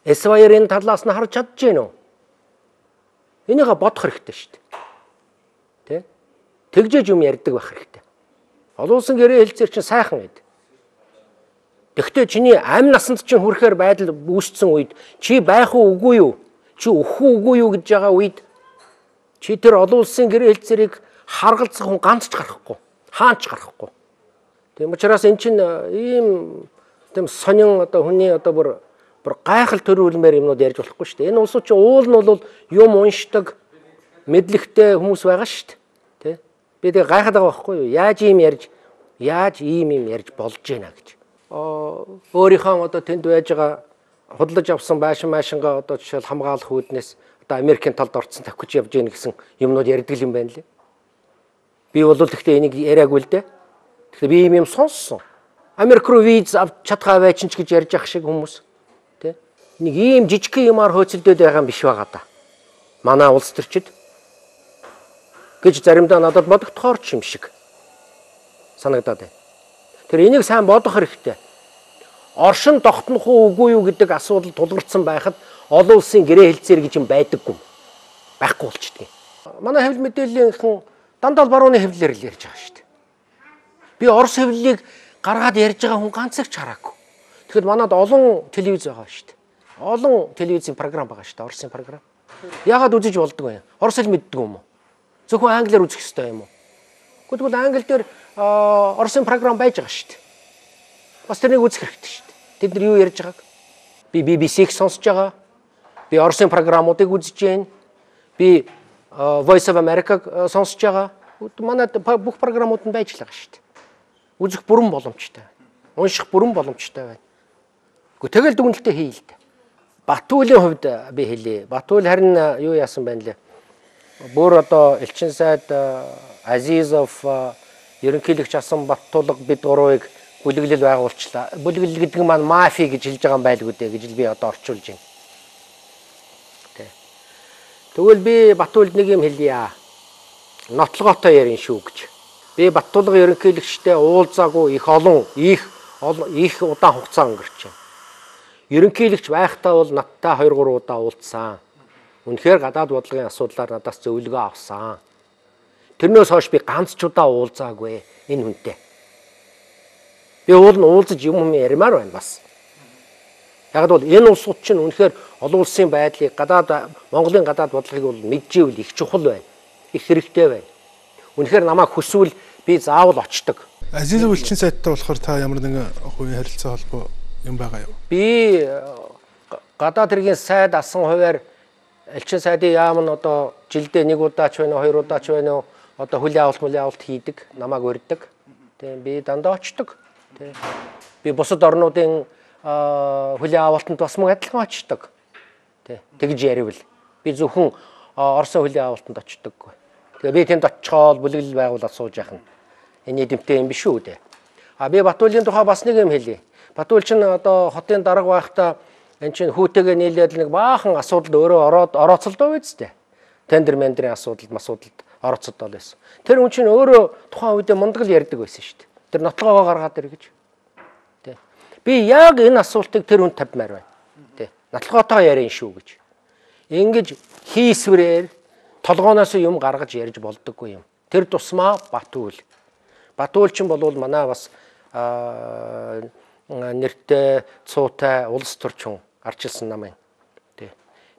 эс хоёр-ын талаас нь харж чадж гин үү? Энийг бодох хэрэгтэй шүү дээ. Тэ? Тэгжээж юм ярьдаг байх хэрэгтэй. Олон улсын гэрээ хэлцээр чинь сайхан байд. Тэгвэл чиний амь насанд чинь хүрэхээр байдал үүссэн үед чи байх уу үгүй юу? Чи өөх үү үгүй юу гэж байгаа үед чи тэр олон улсын гэрээ хэлцээрийг харгалзах хүн ганц ч гарахгүй. Хаанч гарахгүй. Тийм учраас эн чинь ийм тийм сонин одоо хүний одоо бүр бүр гайхал төрүүлмээр юмнууд ярьж болохгүй шүү дээ. Энэ улсууд чинь уул нь бол юм уншдаг мэдлэгтэй хүмүүс байгаа шүү дээ. Тэ? Би тэг гайхаад байгаа байхгүй юу? Яаж ийм ярьж яаж ийм юм ярьж болж гэнэ гэж. Аа өөрийнхөө одоо тэнд байж байгаа худалдаж авсан байшин маашингаа одоо жишээл хамгаалах үүднээс одоо Америкийн талд орцсон тавьж явж гэнэ гэсэн юмнууд ярьдаг юм байна лээ. Би бол тэгтээ энийг яриаггүй л дээ. Тэгэхээр би ийм юм сонссон. Америк руу виз авч чадхаа байж ч гэж ярьж ах шиг хүмүүс. Тэ? Нэг ийм жижиг юмар хөөцөлдөд байгаа юм биш байгаа да. Манай улс төрчид гэж заримдаа надад бодогдохоор ч юм шиг санагдаад байна. Тэр энийг сайн бодох хэрэгтэй. Оршин тогтнох уу үгүй юу гэдэг асуудал тулгарсан байхад олон улсын гэрээ хэлцээр гэж юм байдаггүй. Байхгүй болчихдээ. Манай хэвлэл мэдээллийнхэн дандаа барууны хэвлэлээр л ярьж байгаа шүү дээ. Би Орос хэвлэлийг гаргаад ярьж байгаа хүн ганцыг ч хараагүй. Тэгэхэд манад олон телевиз байгаа шүү дээ. Олон телевизийн програм байгаа шүү дээ, Оросын програм. Яагаад үзэж болдгоо юм? Орос хэл мэддэг юм уу? Зөвхөн англиар үзэх хэрэгтэй юм уу? Гэхдээ англи дээр Оросын програм байж байгаа шүү дээ. Бас тэрнийг үзэх хэрэгтэй шүү дээ. Тэд нар юу ярьж байгааг би би би си-г сонсож байгаа. Би Оросын програмуудыг үзэж байна. Би Voice of America сонсож байгаа. Манай бүх програмууд нь байж л байгаа шүү дээ. Үзэх бүрэн боломжтой. Унших бүрэн боломжтой байна. Гэхдээ тэгэл дүгнэлтээ хий л дээ. Батуулийн хувьд би хэлье. Батуул харин юу яасан байна лээ. Бүр одоо элчин сайд Азизов ерөнхийлөгч асан Баттулга бид гурвыг бүлэглэл байгуулчлаа. Бүлэглэл гэдэг нь маань мафи гэж хэлж байгаа юм байлгүй дээ гэж би одоо орчуулж байна. Тэ. Тэгвэл би Батуулд нэг юм хэлье. Нотлоготой ярин шүү гэж. Би Баттулга ерөнхийлөгчтэй уулзаагүй их олон их их удаан хугацаа өнгөрч байна. ерөнхийлөгч байхдаа бол надтай хоёр гурван удаа уулзсан. Үнэхээр гадаад бодлогын асуудлаар надаас зөвлөгөө авсан. Тэрнээс хойш би ганц ч удаа уулзаагүй энэ хүнтэй. Би уул нь уулзаж юм юм ярмаар байна бас. Яг бол энэ улсууд чинь үнэхээр олон улсын байдлыг гадаад Монголын гадаад бодлогыг бол мэдживэл их чухал байна. Их хэрэгтэй байна. Үнэхээр намайг хүсвэл би заавал очдог. Азийн элчин сайттай болохоор та ямар нэгэн хувийн харилцаа холбоо юм байгаа юу? Би гадаад хэргийн сайд асан хуваар элчин сайдын яам нь одоо жилдээ нэг удаа ч байна уу, хоёр удаа ч байна уу одоо хүлийн авалт мүлийн авалт хийдэг, намайг урьдаг. Тийм би дандаа очдог. Тийм. Би бусад орнуудын хүлийн авалтанд бас мөн адилхан очдог. Тийм. Тэгж яривал би зөвхөн Оросын хүлийн авалтанд очдоггүй. Тэгээ би тэнд очиход бүлэглэл байгуулаад сууж яах нь энэ эдэмтэй юм биш үү дээ. А би Батүлийн тухай бас нэг юм хэлье. Батүл чинь одоо хотын дарга байхдаа энэ чинь хүүтэйгээ нийлээд нэг баахан асуудалд өөрөө ороод орооцолдоо байцтэй. Тендер мендрийн асуудалд масуудалд орооцолдоо байсан. Тэр хүн чинь өөрөө тухайн үедээ мундаг л ярьдаг байсан шүү дээ. Тэр нотлогоо гаргаад иргэж. Тэ. Би яг энэ асуултыг тэр хүнд тавьмаар байна. Тэ. Нотлогоотойгоо ярина шүү гэж. Ингэж хийсвэрээр толгооноос юм гаргаж ярьж болдоггүй юм. Тэр тусмаа Батүл. Батүл чинь болвол манай бас нэртэй цуутай улс төрчин арчилсан намын. Тэ.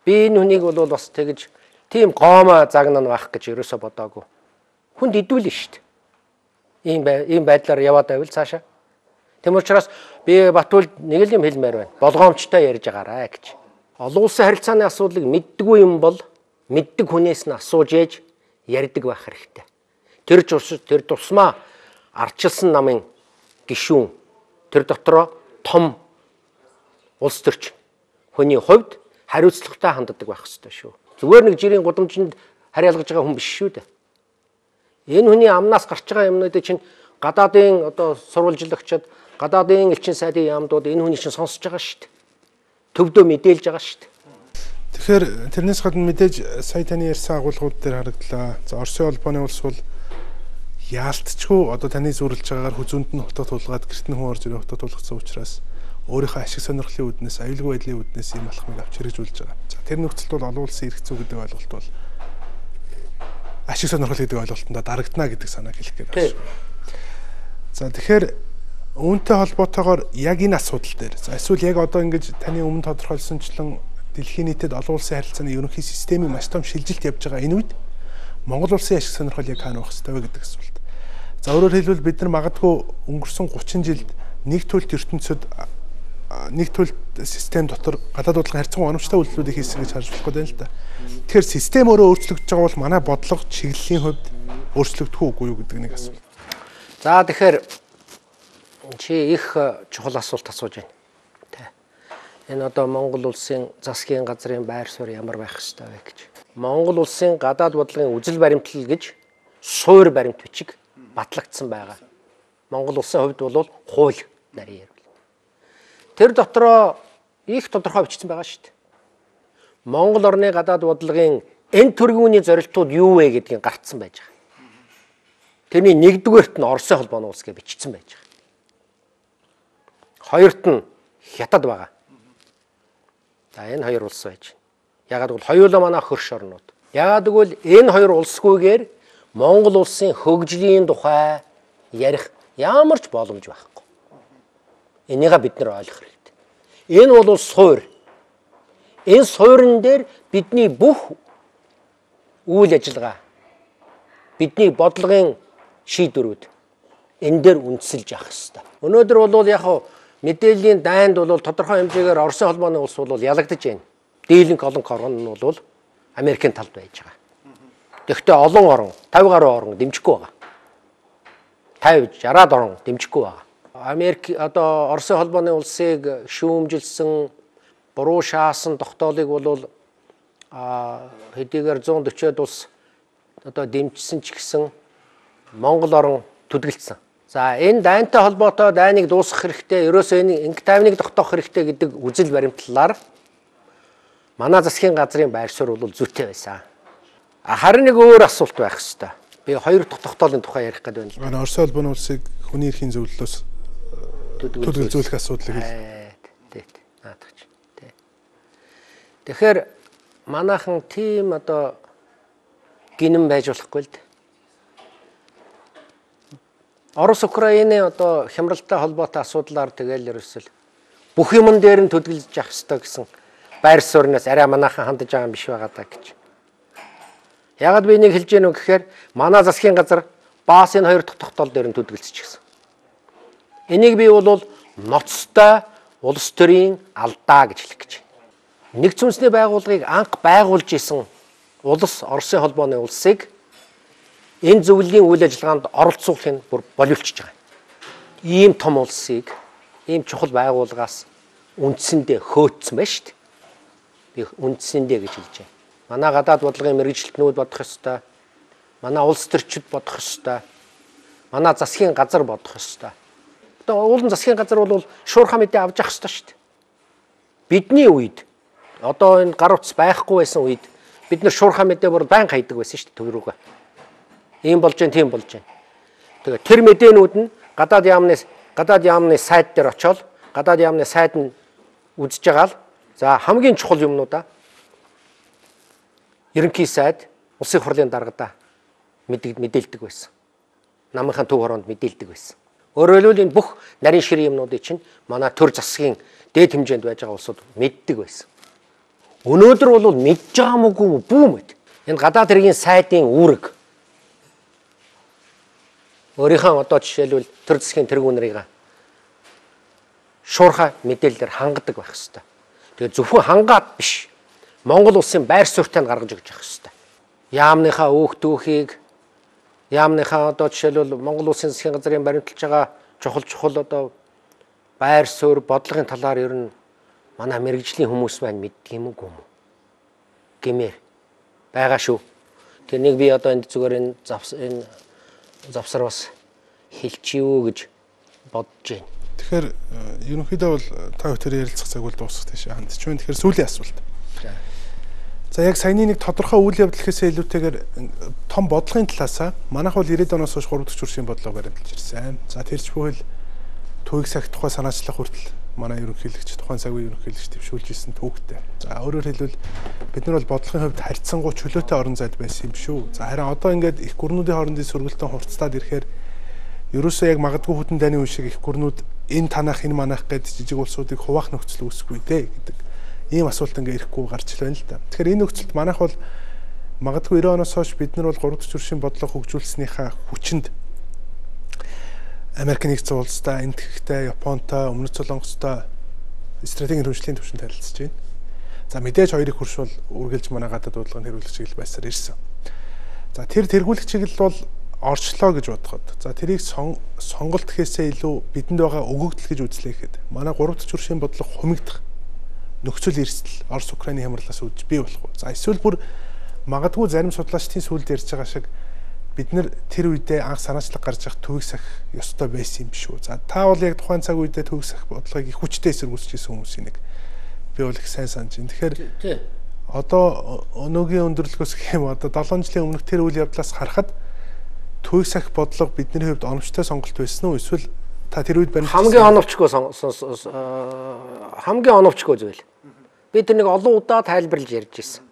Би энэ хүнийг бол бас тэгж тийм гоомоо загнана байх гэж ерөөсө бодоагүй. Хүнд идүүлнэ шүү дээ. Ийм ийм байдлаар яваад байвал цаашаа. Тэм учраас би Батүл нэг л юм хэлмээр байна. Болгоомжтой ярьж байгаарай гэж. Олон улсын харилцааны асуудлыг мэддэггүй юм бол мэддэг хүнээс нь асууж ээж ярьдаг байх хэрэгтэй. Тэр тэр тусмаа арчилсан намын гишүүн тэр дотроо том улс төрч хүний хувьд хариуцлагатай ханддаг байх ёстой шүү. Зүгээр нэг жирийн гудамжинд хариалгаж байгаа хүн биш шүү дээ. Энэ хүний амнаас гарч байгаа юмнуудыг чинь гадаадын одоо сурвалжлагчид, гадаадын элчин сайдын яамдууд энэ хүний чинь сонсож байгаа шүү дээ. Төвдөө мэдээлж байгаа шүү дээ. Тэгэхээр тэрнээс гадна мэдээж сая таны ярьсан агуулгууд дээр харагдлаа. За Оросын холбооны улс бол яалтчгүй одоо таны зүрлж байгаагаар хүзүүнд нь хотод тулгаад гэртэн хүн орж ирээ хотод тулгацсан учраас өөрийнхөө ашиг сонирхлын үүднээс аюулгүй байдлын үүднээс ийм алхмыг авч хэрэгжүүлж байгаа. За тэр нөхцөлд бол олон улсын эрх зүй гэдэг ойлголт бол ашиг сонирхол гэдэг ойлголтонд дарагдана гэдэг санааг хэлэх гээд байна. За тэгэхээр үүнтэй холбоотойгоор яг энэ асуудал дээр за эсвэл яг одоо ингэж таны өмнө тодорхойлсончлон дэлхийн нийтэд олон улсын харилцааны ерөнхий системийн маш том шилжилт явж байгаа энэ үед Монгол улсын ашиг сонирхол яг хаана байх ёстой вэ гэдэг асуулт. За өөрөөр хэлбэл бид нар магадгүй өнгөрсөн гучин жилд нэг төлөлт ертөнцид нэг төлөлт систем дотор гадаад бодлогын харьцангуй оновчтой үйлдэлүүдийг хийсэн гэж харж болох гэдэг юм л да. Тэгэхээр систем өөрөө өөрчлөгдөж байгаа бол манай бодлого чиглэлийн хувьд өөрчлөгдөх үгүй юу гэдэг нэг асуулт. За тэгэхээр чи их чухал асуулт асууж байна. Тэ. Энэ одоо Монгол улсын засгийн газрын байр суурь ямар байх ёстой вэ гэж. Монгол улсын гадаад бодлогын үзэл баримтлал гэж суур баримт бичиг батлагдсан байгаа. Монгол улсын хувьд бол хууль нарийн ярил. Тэр дотроо их тодорхой бичсэн байгаа шүү дээ. Монгол орны гадаад бодлогын энэ төргийн зорилтууд юу вэ гэдгийг гарцсан байж байгаа. Тэрний нэгдүгээрт нь Оросын холбооны улс гэж бичсэн байж байгаа. Хоёрт нь Хятад байгаа. За энэ хоёр улс байж. Ягаад гэвэл хоёулаа манай хөрш орнууд. Ягаад гэвэл энэ хоёр улсгүйгээр Монгол улсын хөгжлийн тухай ярих ямар ч боломж байхгүй. Энийг бид нар ойлгох хэрэгтэй. Энэ бол суур. Энэ суурин дээр бидний бүх үйл ажиллагаа, бидний бодлогын шийдвэрүүд энэ дээр үндэслэж явах хэрэгтэй. Өнөөдөр бол яг мэдээллийн дайнд бол тодорхой хэмжээгээр Оросын холбооны улс бол ялагдаж байна. Дийлэнх олон орн нь бол Америкийн талд байж байгаа. Тэгэхдээ олон орн, тавь гаруй орн дэмжихгүй байгаа. тавь шараад орн дэмжихгүй байгаа. Америк одоо Оросын холбооны улсыг шүүмжилсэн, буруу шаасан тогтоолыг бол а хэдийгээр зуун дөрвд улс одоо дэмжсэн ч гэсэн Монгол орн төдөлдсөн. За энэ дайнтай холбоотой дайныг дуусгах хэрэгтэй, ерөөсөө энэ инк тайвныг тогтоох хэрэгтэй гэдэг үзэл баримтлалаар манай засгийн газрын байр суурь бол зүйтэй байсан. Харин нэг өөр асуулт байх хэвээр. Би хоёр дахь тогтоолын тухай ярих гэдэг байна. Оросын холбооны улсыг хүний эрхийн зөвлөлөөс төлөвлөжүүлэх асуудлыг хэл. Тий. Наадах. Тэгэхээр манайхан тийм одоо гинэн байж болохгүй л дээ. Орос Украины одоо хямралтай холбоотой асуудлаар тэгэл ерөөсөл бүх юмн дээр нь төдөлж явах ёстой гэсэн байр суурнаас арай манайхан хандаж байгаа юм биш байгаа даа гэж. Ягаад би энийг хэлж гэнэ үү гэхээр манай засгийн газар баас энэ хоёр дахь тогтоол дээр нь төдөлж гисэн. Энийг би бол ноцтой улс төрийн алдаа гэж хэлэх гэж. Нэгдсэн үндэсний байгууллагыг анх байгуулж исэн улс Оросын холбооны улсыг энэ зөвлөлийн үйл ажиллагаанд оролцуулахыг бүр боловлчж байгаа. Ийм том улсыг ийм чухал байгууллагаас үндсэндээ хөөцсөн байна шүү дээ. Би үндсэндээ гэж хэлж байна. Манай гадаад бодлогын мэргэжилтнүүд бодох ёстой. Манай улс төрчид бодох ёстой. Манай засгийн газар бодох ёстой. Одоо уулын засгийн газар бол шуурхай мэдээ авч явах ёстой шүү дээ. Бидний үед одоо энэ гар утас байхгүй байсан үед бид нар шуурхай мэдээ бүр байнга хайдаг байсан шүү дээ төв рүүгээ. Ийм болж जैन тийм болж जैन. Тэгээ тэр мэдээнүүд нь гадаад яамны гадаад яамны сайт дээр очиод гадаад яамны сайд нь үзэж байгаа л за хамгийн чухал юмнуудаа ерөнхий сайд улсын хурлын даргадаа мэдээлдэг байсан. Намынхаа төв хороонд мэдээлдэг байсан. Өөрөөр хэлбэл энэ бүх нарийн ширийн юмнуудыг чинь манай төр засгийн дээд хэмжээнд байж байгаа улсууд мэддэг байсан. Өнөөдөр бол мэдж байгаа мөгүй бүү мэд. Энэ гадаад хэргийн сайдын үүрэг өөрийнхөө одоо жишээлбэл төр засгийн тэргүүнэрийг шуурхай мэдээлэлээр хангадаг байх ёстой. Тэгээ зөвхөн хангаад биш. Монгол улсын байр суурьтай нь гаргаж өгч явах ёстой. Яамныхаа өөх түүхийг яамныхаа одоо жишээлбэл Монгол улсын засгийн газрын баримталж байгаа чухал чухал одоо байр суурь бодлогын талаар ер нь манай мэргэжлийн хүмүүс маань мэддэг юм уу гэмээр байгаа шүү. Тэр нэг би одоо энд зүгээр энэ завс энэ завсар бас хэлчихв гэж бодож байна. Тэгэхээр ерөнхийдөө бол та бүхэн ярилцах цаг бол дуусах тийш хандж байна. Тэгэхээр сүүлийн асуулт. За яг саяны нэг тодорхой үйл явдал гэхээсээ илүүтэйгээр том бодлогын талаасаа манайх бол ирээдүйн оноос хойш гурав дахь чуршийн бодлого баримталж ирсэн. За тэрч бүхэл төвийг сахих тухай санаачлах хүртэл манай ерөнхийлөгч тухайн цагийн ерөнхийлөгч төвшүүлж ирсэн төвхтэй. За өөрөөр хэлбэл бид нар бол бодлогын хувьд харьцангуй чөлөөтэй орон зайд байсан юм шүү. За харин одоо ингээд их гүрнүүдийн хоорондын сөргөлтөнд хурцтаад ирэхээр ерөөсөө яг магадгүй хүтэн дайны үе шиг их гүрнүүд энэ танах энэ манах гэд жижиг улсуудыг хуваах нөхцөл үүсэхгүй дээ гэдэг ийм асуулт ингээд ирэхгүй гарч ил байна л да. Тэгэхээр энэ нөхцөлд манайх бол магадгүй девяносто оноос хойш бид нар бол гурав дахь чуршийн бодлого хөгжүүлснийхаа хүчинд Америк нэгдсэн улстай, Энэтхэгтэй, Японтой, Өмнөд Солонгостой стратегийн хөгжлийн түвшинд харилцаж байна. За мэдээж хоёрыг хурш бол үргэлж манай гадаад бодлогын хэрэглэх чиглэл байсаар ирсэн. За тэр тэргүүлэх чиглэл бол орчлоо гэж бодоход. За тэрийг сонголт гэхээсээ илүү бидэнд байгаа өгөгдөл гэж үзлээхэд манай гурав дахь чуршийн бодлого хумигдах нөхцөл эрсдэл Орос Украины хямралаас үүдж бий болох уу. За эсвэл бүр магадгүй зарим судлаачдын сүлд ярьж байгаа шиг бид нар тэр үедээ анх санаачлаг гарч явах төвийг сахих ёстой байсан юм биш үү. За та бол яг тухайн цаг үедээ төвийг сахих бодлогыг их хүчтэй эсэргүүцэж ирсэн хүмүүсийн нэг би бол их сайн санаж байна. Тэгэхээр одоо өнөөгийн өндөрлөгөөс гэх юм одоо долоон жилийн өмнөх тэр үйл явдлаас харахад төвийг сахих бодлого бидний хувьд оновчтой сонголт байсан уу эсвэл та тэр үед баримт хамгийн оновчгүй хамгийн оновчгүй зүйл. Би тэр нэг олон удаа тайлбарлаж ярьж ирсэн.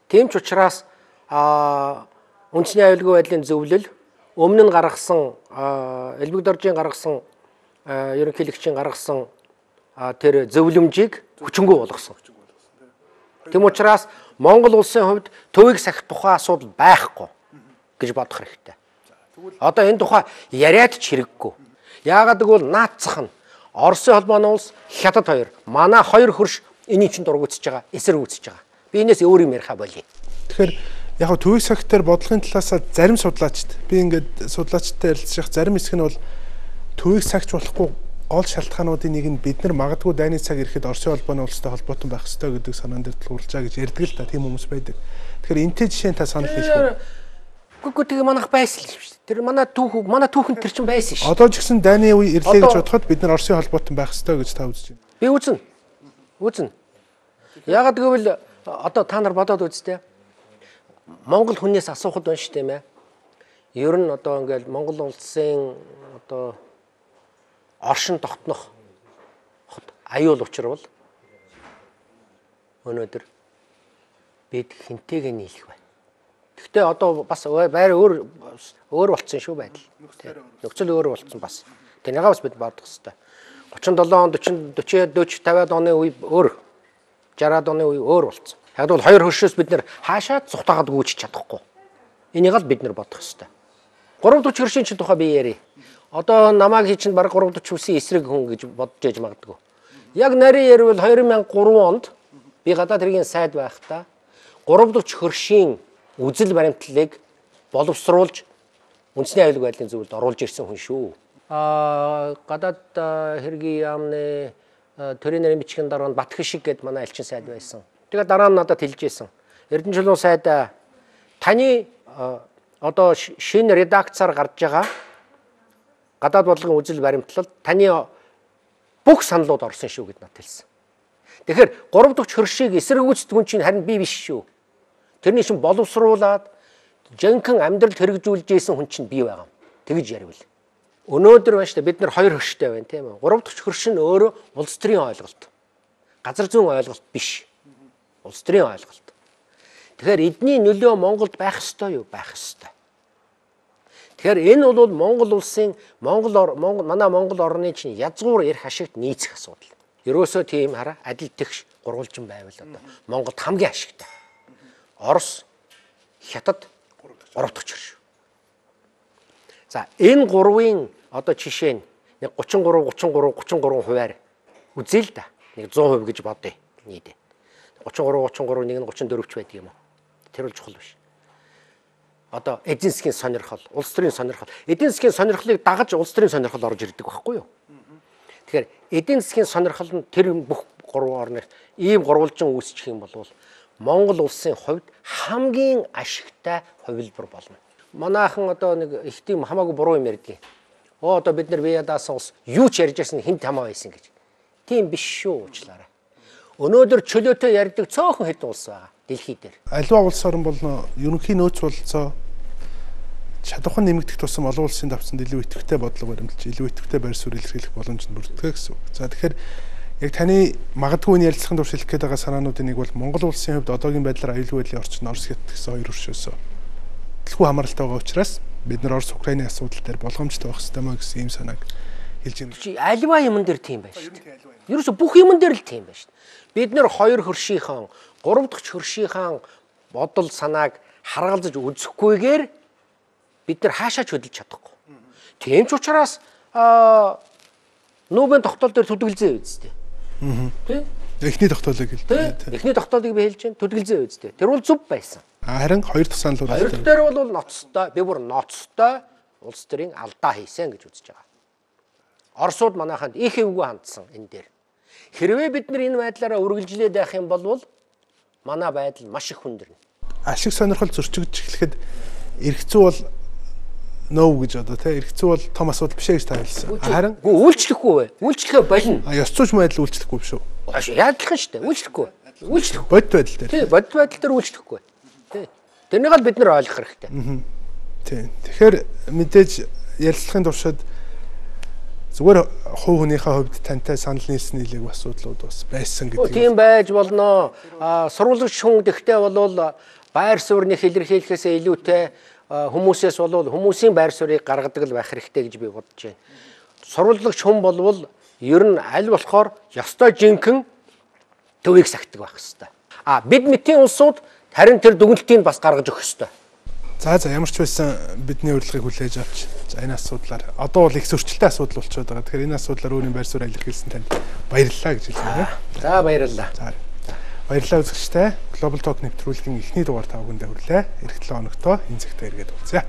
Тийм ч учраас а Үндэсний аюулгүй байдлын зөвлөл өмнө нь гаргасан Элбэг доржийн гаргасан ерөнхийлөгчийн гаргасан тэр зөвлөмжийг хүчингү болгосон. Тийм учраас Монгол улсын хувьд төвийг сахих тухай асуудал байхгүй гэж бодох хэрэгтэй. Одоо энэ тухай яриад ч хэрэггүй. Яагаад гэвэл наацах нь Оросын холбооны улс хятад хоёр манай хоёр хөрш энийг чинь дургуутсаж байгаа, эсэргүүцэж байгаа. Би энэс өөр юм яриха болъё. Тэгэхээр яг нь төвийг сахихтэр бодлогын талаас зарим судлаачд би ингээд судлаачтай ярилцах зарим хэсэг нь бол төвийг сахиж болохгүй гол шалтгаануудын нэг нь бид нар магадгүй дайны цаг ирэхэд Оросын холбооны улстай холбоотой байх ёстой гэдэг санаан дээр тулгуурлажаа гэж ярьдаг л та тийм хүмүүс байдаг. Тэгэхээр энтэй жишээ та санал хэлэх үү? Гүг тэгээ манайх байсан л шүү дээ. Тэр манай түүх манай түүхэнд тэр чинь байсан шүү. Одоо ч гэсэн дайны үе ирлээ гэж бодоход бид нар Оросын холбоотой байх ёстой гэж та үзэж байна. Би үзнэ. Үзнэ. Яагаад гэвэл одоо та нар бодоод үзтээ. Монгол хүнээс асуухад байна шүү дээ мэ. Ер нь одоо ингээл Монгол улсын одоо оршин тогтнох аюул учир бол өнөөдөр бид хинтэйгээ нийлэх байна. Гэхдээ одоо бас байр өөр өөр болцсон шүү байдал. Нөхцөл өөр болцсон бас. Тэрнийгээ бас бид бодох хэрэгтэй. гучин долоо он forty forty фifty оны үе өөр, sixty оны үе өөр болцсон. Яг бол хоёр хөршөөс бид нэр хаашаа цухтаагаад гүйж чадахгүй. Энийг л бид нэр бодох хэрэгтэй. three forty хөршийн чинь тухай би ярив. Одоо намайг хий чинь баг three forty хүссэн эсрэг хүн гэж бодож яж магадгүй. Яг нарийн ярил two thousand three онд би гадаад хэргийн сайд байхдаа three forty хөршийн үзэл баримтлалыг боловсруулж үндэсний аюулгүй байдлын зөвлөлд оруулж ирсэн хүн шүү. Аа гадаад хэргийн яамны төрийн нарийн бичгийн дараа нь Батхишиг гэд манай элчин сайд байсан. Тэгээ дараа нь надад хэлжсэн. Эрдэнэ чулуун сайд таны одоо шинэ редакцаар гарч байгаа гадаад бодлогын үзэл баримтлал таны бүх саналууд орсон шүү гэд надад хэлсэн. Тэгэхээр three forty хөршийг эсэргүүцдэг хүн чинь харин би биш шүү. Тэрний шин боловсруулад жинхэнэ амьдралд хэрэгжүүлж ийсэн хүн чинь би байгаа юм. Тэгж яривал. Өнөөдөр байна шүү дээ бид нар хоёр хөрштэй байна тийм үү? three forty хөрш нь өөрөө улс төрийн ойлголт. Газар зүйн ойлголт биш. Улс төрийн ойлголт. Тэгэхээр эдний нөлөө Монголд байх ёстой юу? Байх ёстой. Тэгэхээр энэ бол Монгол улсын Монгол манай Монгол орны чинь язгуур эрх ашигт нийцэх асуудал. Ерөөсөө тийм хараа адил тэгш гурвалжин байвал одоо Монголд хамгийн ашигтай. Орос, Хятад three forty хөрш. За энэ гурвын одоо жишээ нь нэг thirty-three thirty-three thirty-three хувиар үзье л да. Нэг one hundred гэж бодъё нийт. thirty-three thirty-three нэг нь thirty-four ч байдаг юм уу? Тэр бол чухал биш. Одоо эдийн засгийн сонирхол, улс төрийн сонирхол. Эдийн засгийн сонирхлыг дагаж улс төрийн сонирхол орж ирдэг байхгүй юу? Тэгэхээр эдийн засгийн сонирхол нь тэр бүх гурван орны ийм гурвалжин үүсчих юм бол Монгол улсын хувьд хамгийн ашигтай хувилбар болно. Манайхан одоо нэг их тийм хамаагүй буруу юм ярьдгийг. Оо одоо бид нар Виядаас ус юу ч ярьж байсан хинт хамаа байсан гэж. Тийм биш шүү уучлаарай. Өнөөдөр чөлөөтэй ярьдаг цөөхөн хэд улс байгаа дэлхий дээр. Аливаа улс орн бол ерөнхий нөөц болцоо чадвархан нэмэгдэх тусам олон улсын давцанд илүү идэвхтэй бодлого баримталж, илүү идэвхтэй байр суурь илэрхийлэх боломж нь бүрддэг гэсэн үг. За тэгэхээр яг таны магадгүй энэ ярилцлагын турш хэлэх гээд байгаа санаануудын нэг бол Монгол улсын хувьд одоогийн байдлаар аюулгүй байдлын орчин Орос Хятад гэсэн хоёр хөршөөс дэлгүү хамааралтай байгаа учраас бид нар Орос Украины асуудал дээр болгоомжтой байх хэрэгтэй маа гэсэн ийм санааг хэлж байна. Чи аливаа юмн дээр тийм байна шүү дээ. Ерөөсө бүх юмн дээр л тийм байна шүү дээ. Бид нар хоёр хөршийнхэн three дахь хөршийнхэн бодол санааг харгалзаж үзэхгүйгээр бид нар хаашаа ч хөдөлж чадахгүй. Тийм ч учраас Нобелийн тогтоол дээр төдөлгөлзөө үздэй. Тэ? Эхний тогтоолыг хэлдэг. Эхний тогтоолыг би хэлж байна. Төдөлгөлзөө үздэй. Тэр бол зөв байсан. Харин хоёр дахь санал бол хоёр дахь дээр бол ноцтой, би бүр ноцтой улс төрийн алдаа хийсэн гэж үзэж байгаа. Оросууд манайханд их эвгүй хандсан энэ дээр. Хэрвээ бид нар энэ байдлаараа үргэлжлээд байх юм бол манай байдал маш их хүндэрнэ. Ашиг сонирхол зөрчигдөж эхлэхэд эрх зүй бол нөө гэж одоо тий эрх зүй бол том асуудал биш ээ гэж та хэлсэн. Харин үйлчлэхгүй бай. Үйлчлэхээ болно. А ёс зүйч байдал үйлчлэхгүй биш үү? Яадлах нь шүү дээ. Үйлчлэхгүй. Үйлчлэх. Бодит байдал дээр. Тий, бодит байдал дээр үйлчлэхгүй. Тий. Тэрнийг л бид нар ойлгох хэрэгтэй. Тий. Тэгэхээр мэдээж ярилцлагын туршид зүгээр хувь хүнийхээ хувьд тантай санал нийлсэн нийлээг асуудлууд бас байсан гэдэг. Тийм байж болно. А сурвалжлагч хүн гэхдээ бол байр суурьны илэрхийлэхээс илүүтэй хүмүүсээс бол хүмүүсийн байр суурийг гаргадаг л байх хэрэгтэй гэж би бодож байна. Сурвалжлагч хүн болвол ер нь аль болохоор ёстой жинхэнэ төвийг сахидаг байх хэрэгтэй. А бид мэтийн улсууд харин тэр дүгнэлтийг бас гаргаж өгөх хэрэгтэй. За за ямар ч байсан бидний урилгыг хүлээж авч за энэ асуудлаар одоо бол их зөрчилтэй асуудал болчиход байгаа. Тэгэхээр энэ асуудлаар өөрийн байр суурь илэрхийлсэн танд баярлалаа гэж хэлмээр байна. За баярлалаа. За баярлалаа үзэгчтэй. Global Talk нэвтрүүлгийн эхний дугаар та бүхэндээ хүрлээ. Эх seven хоногтоо энэ цагтаа эргээд уулзъя.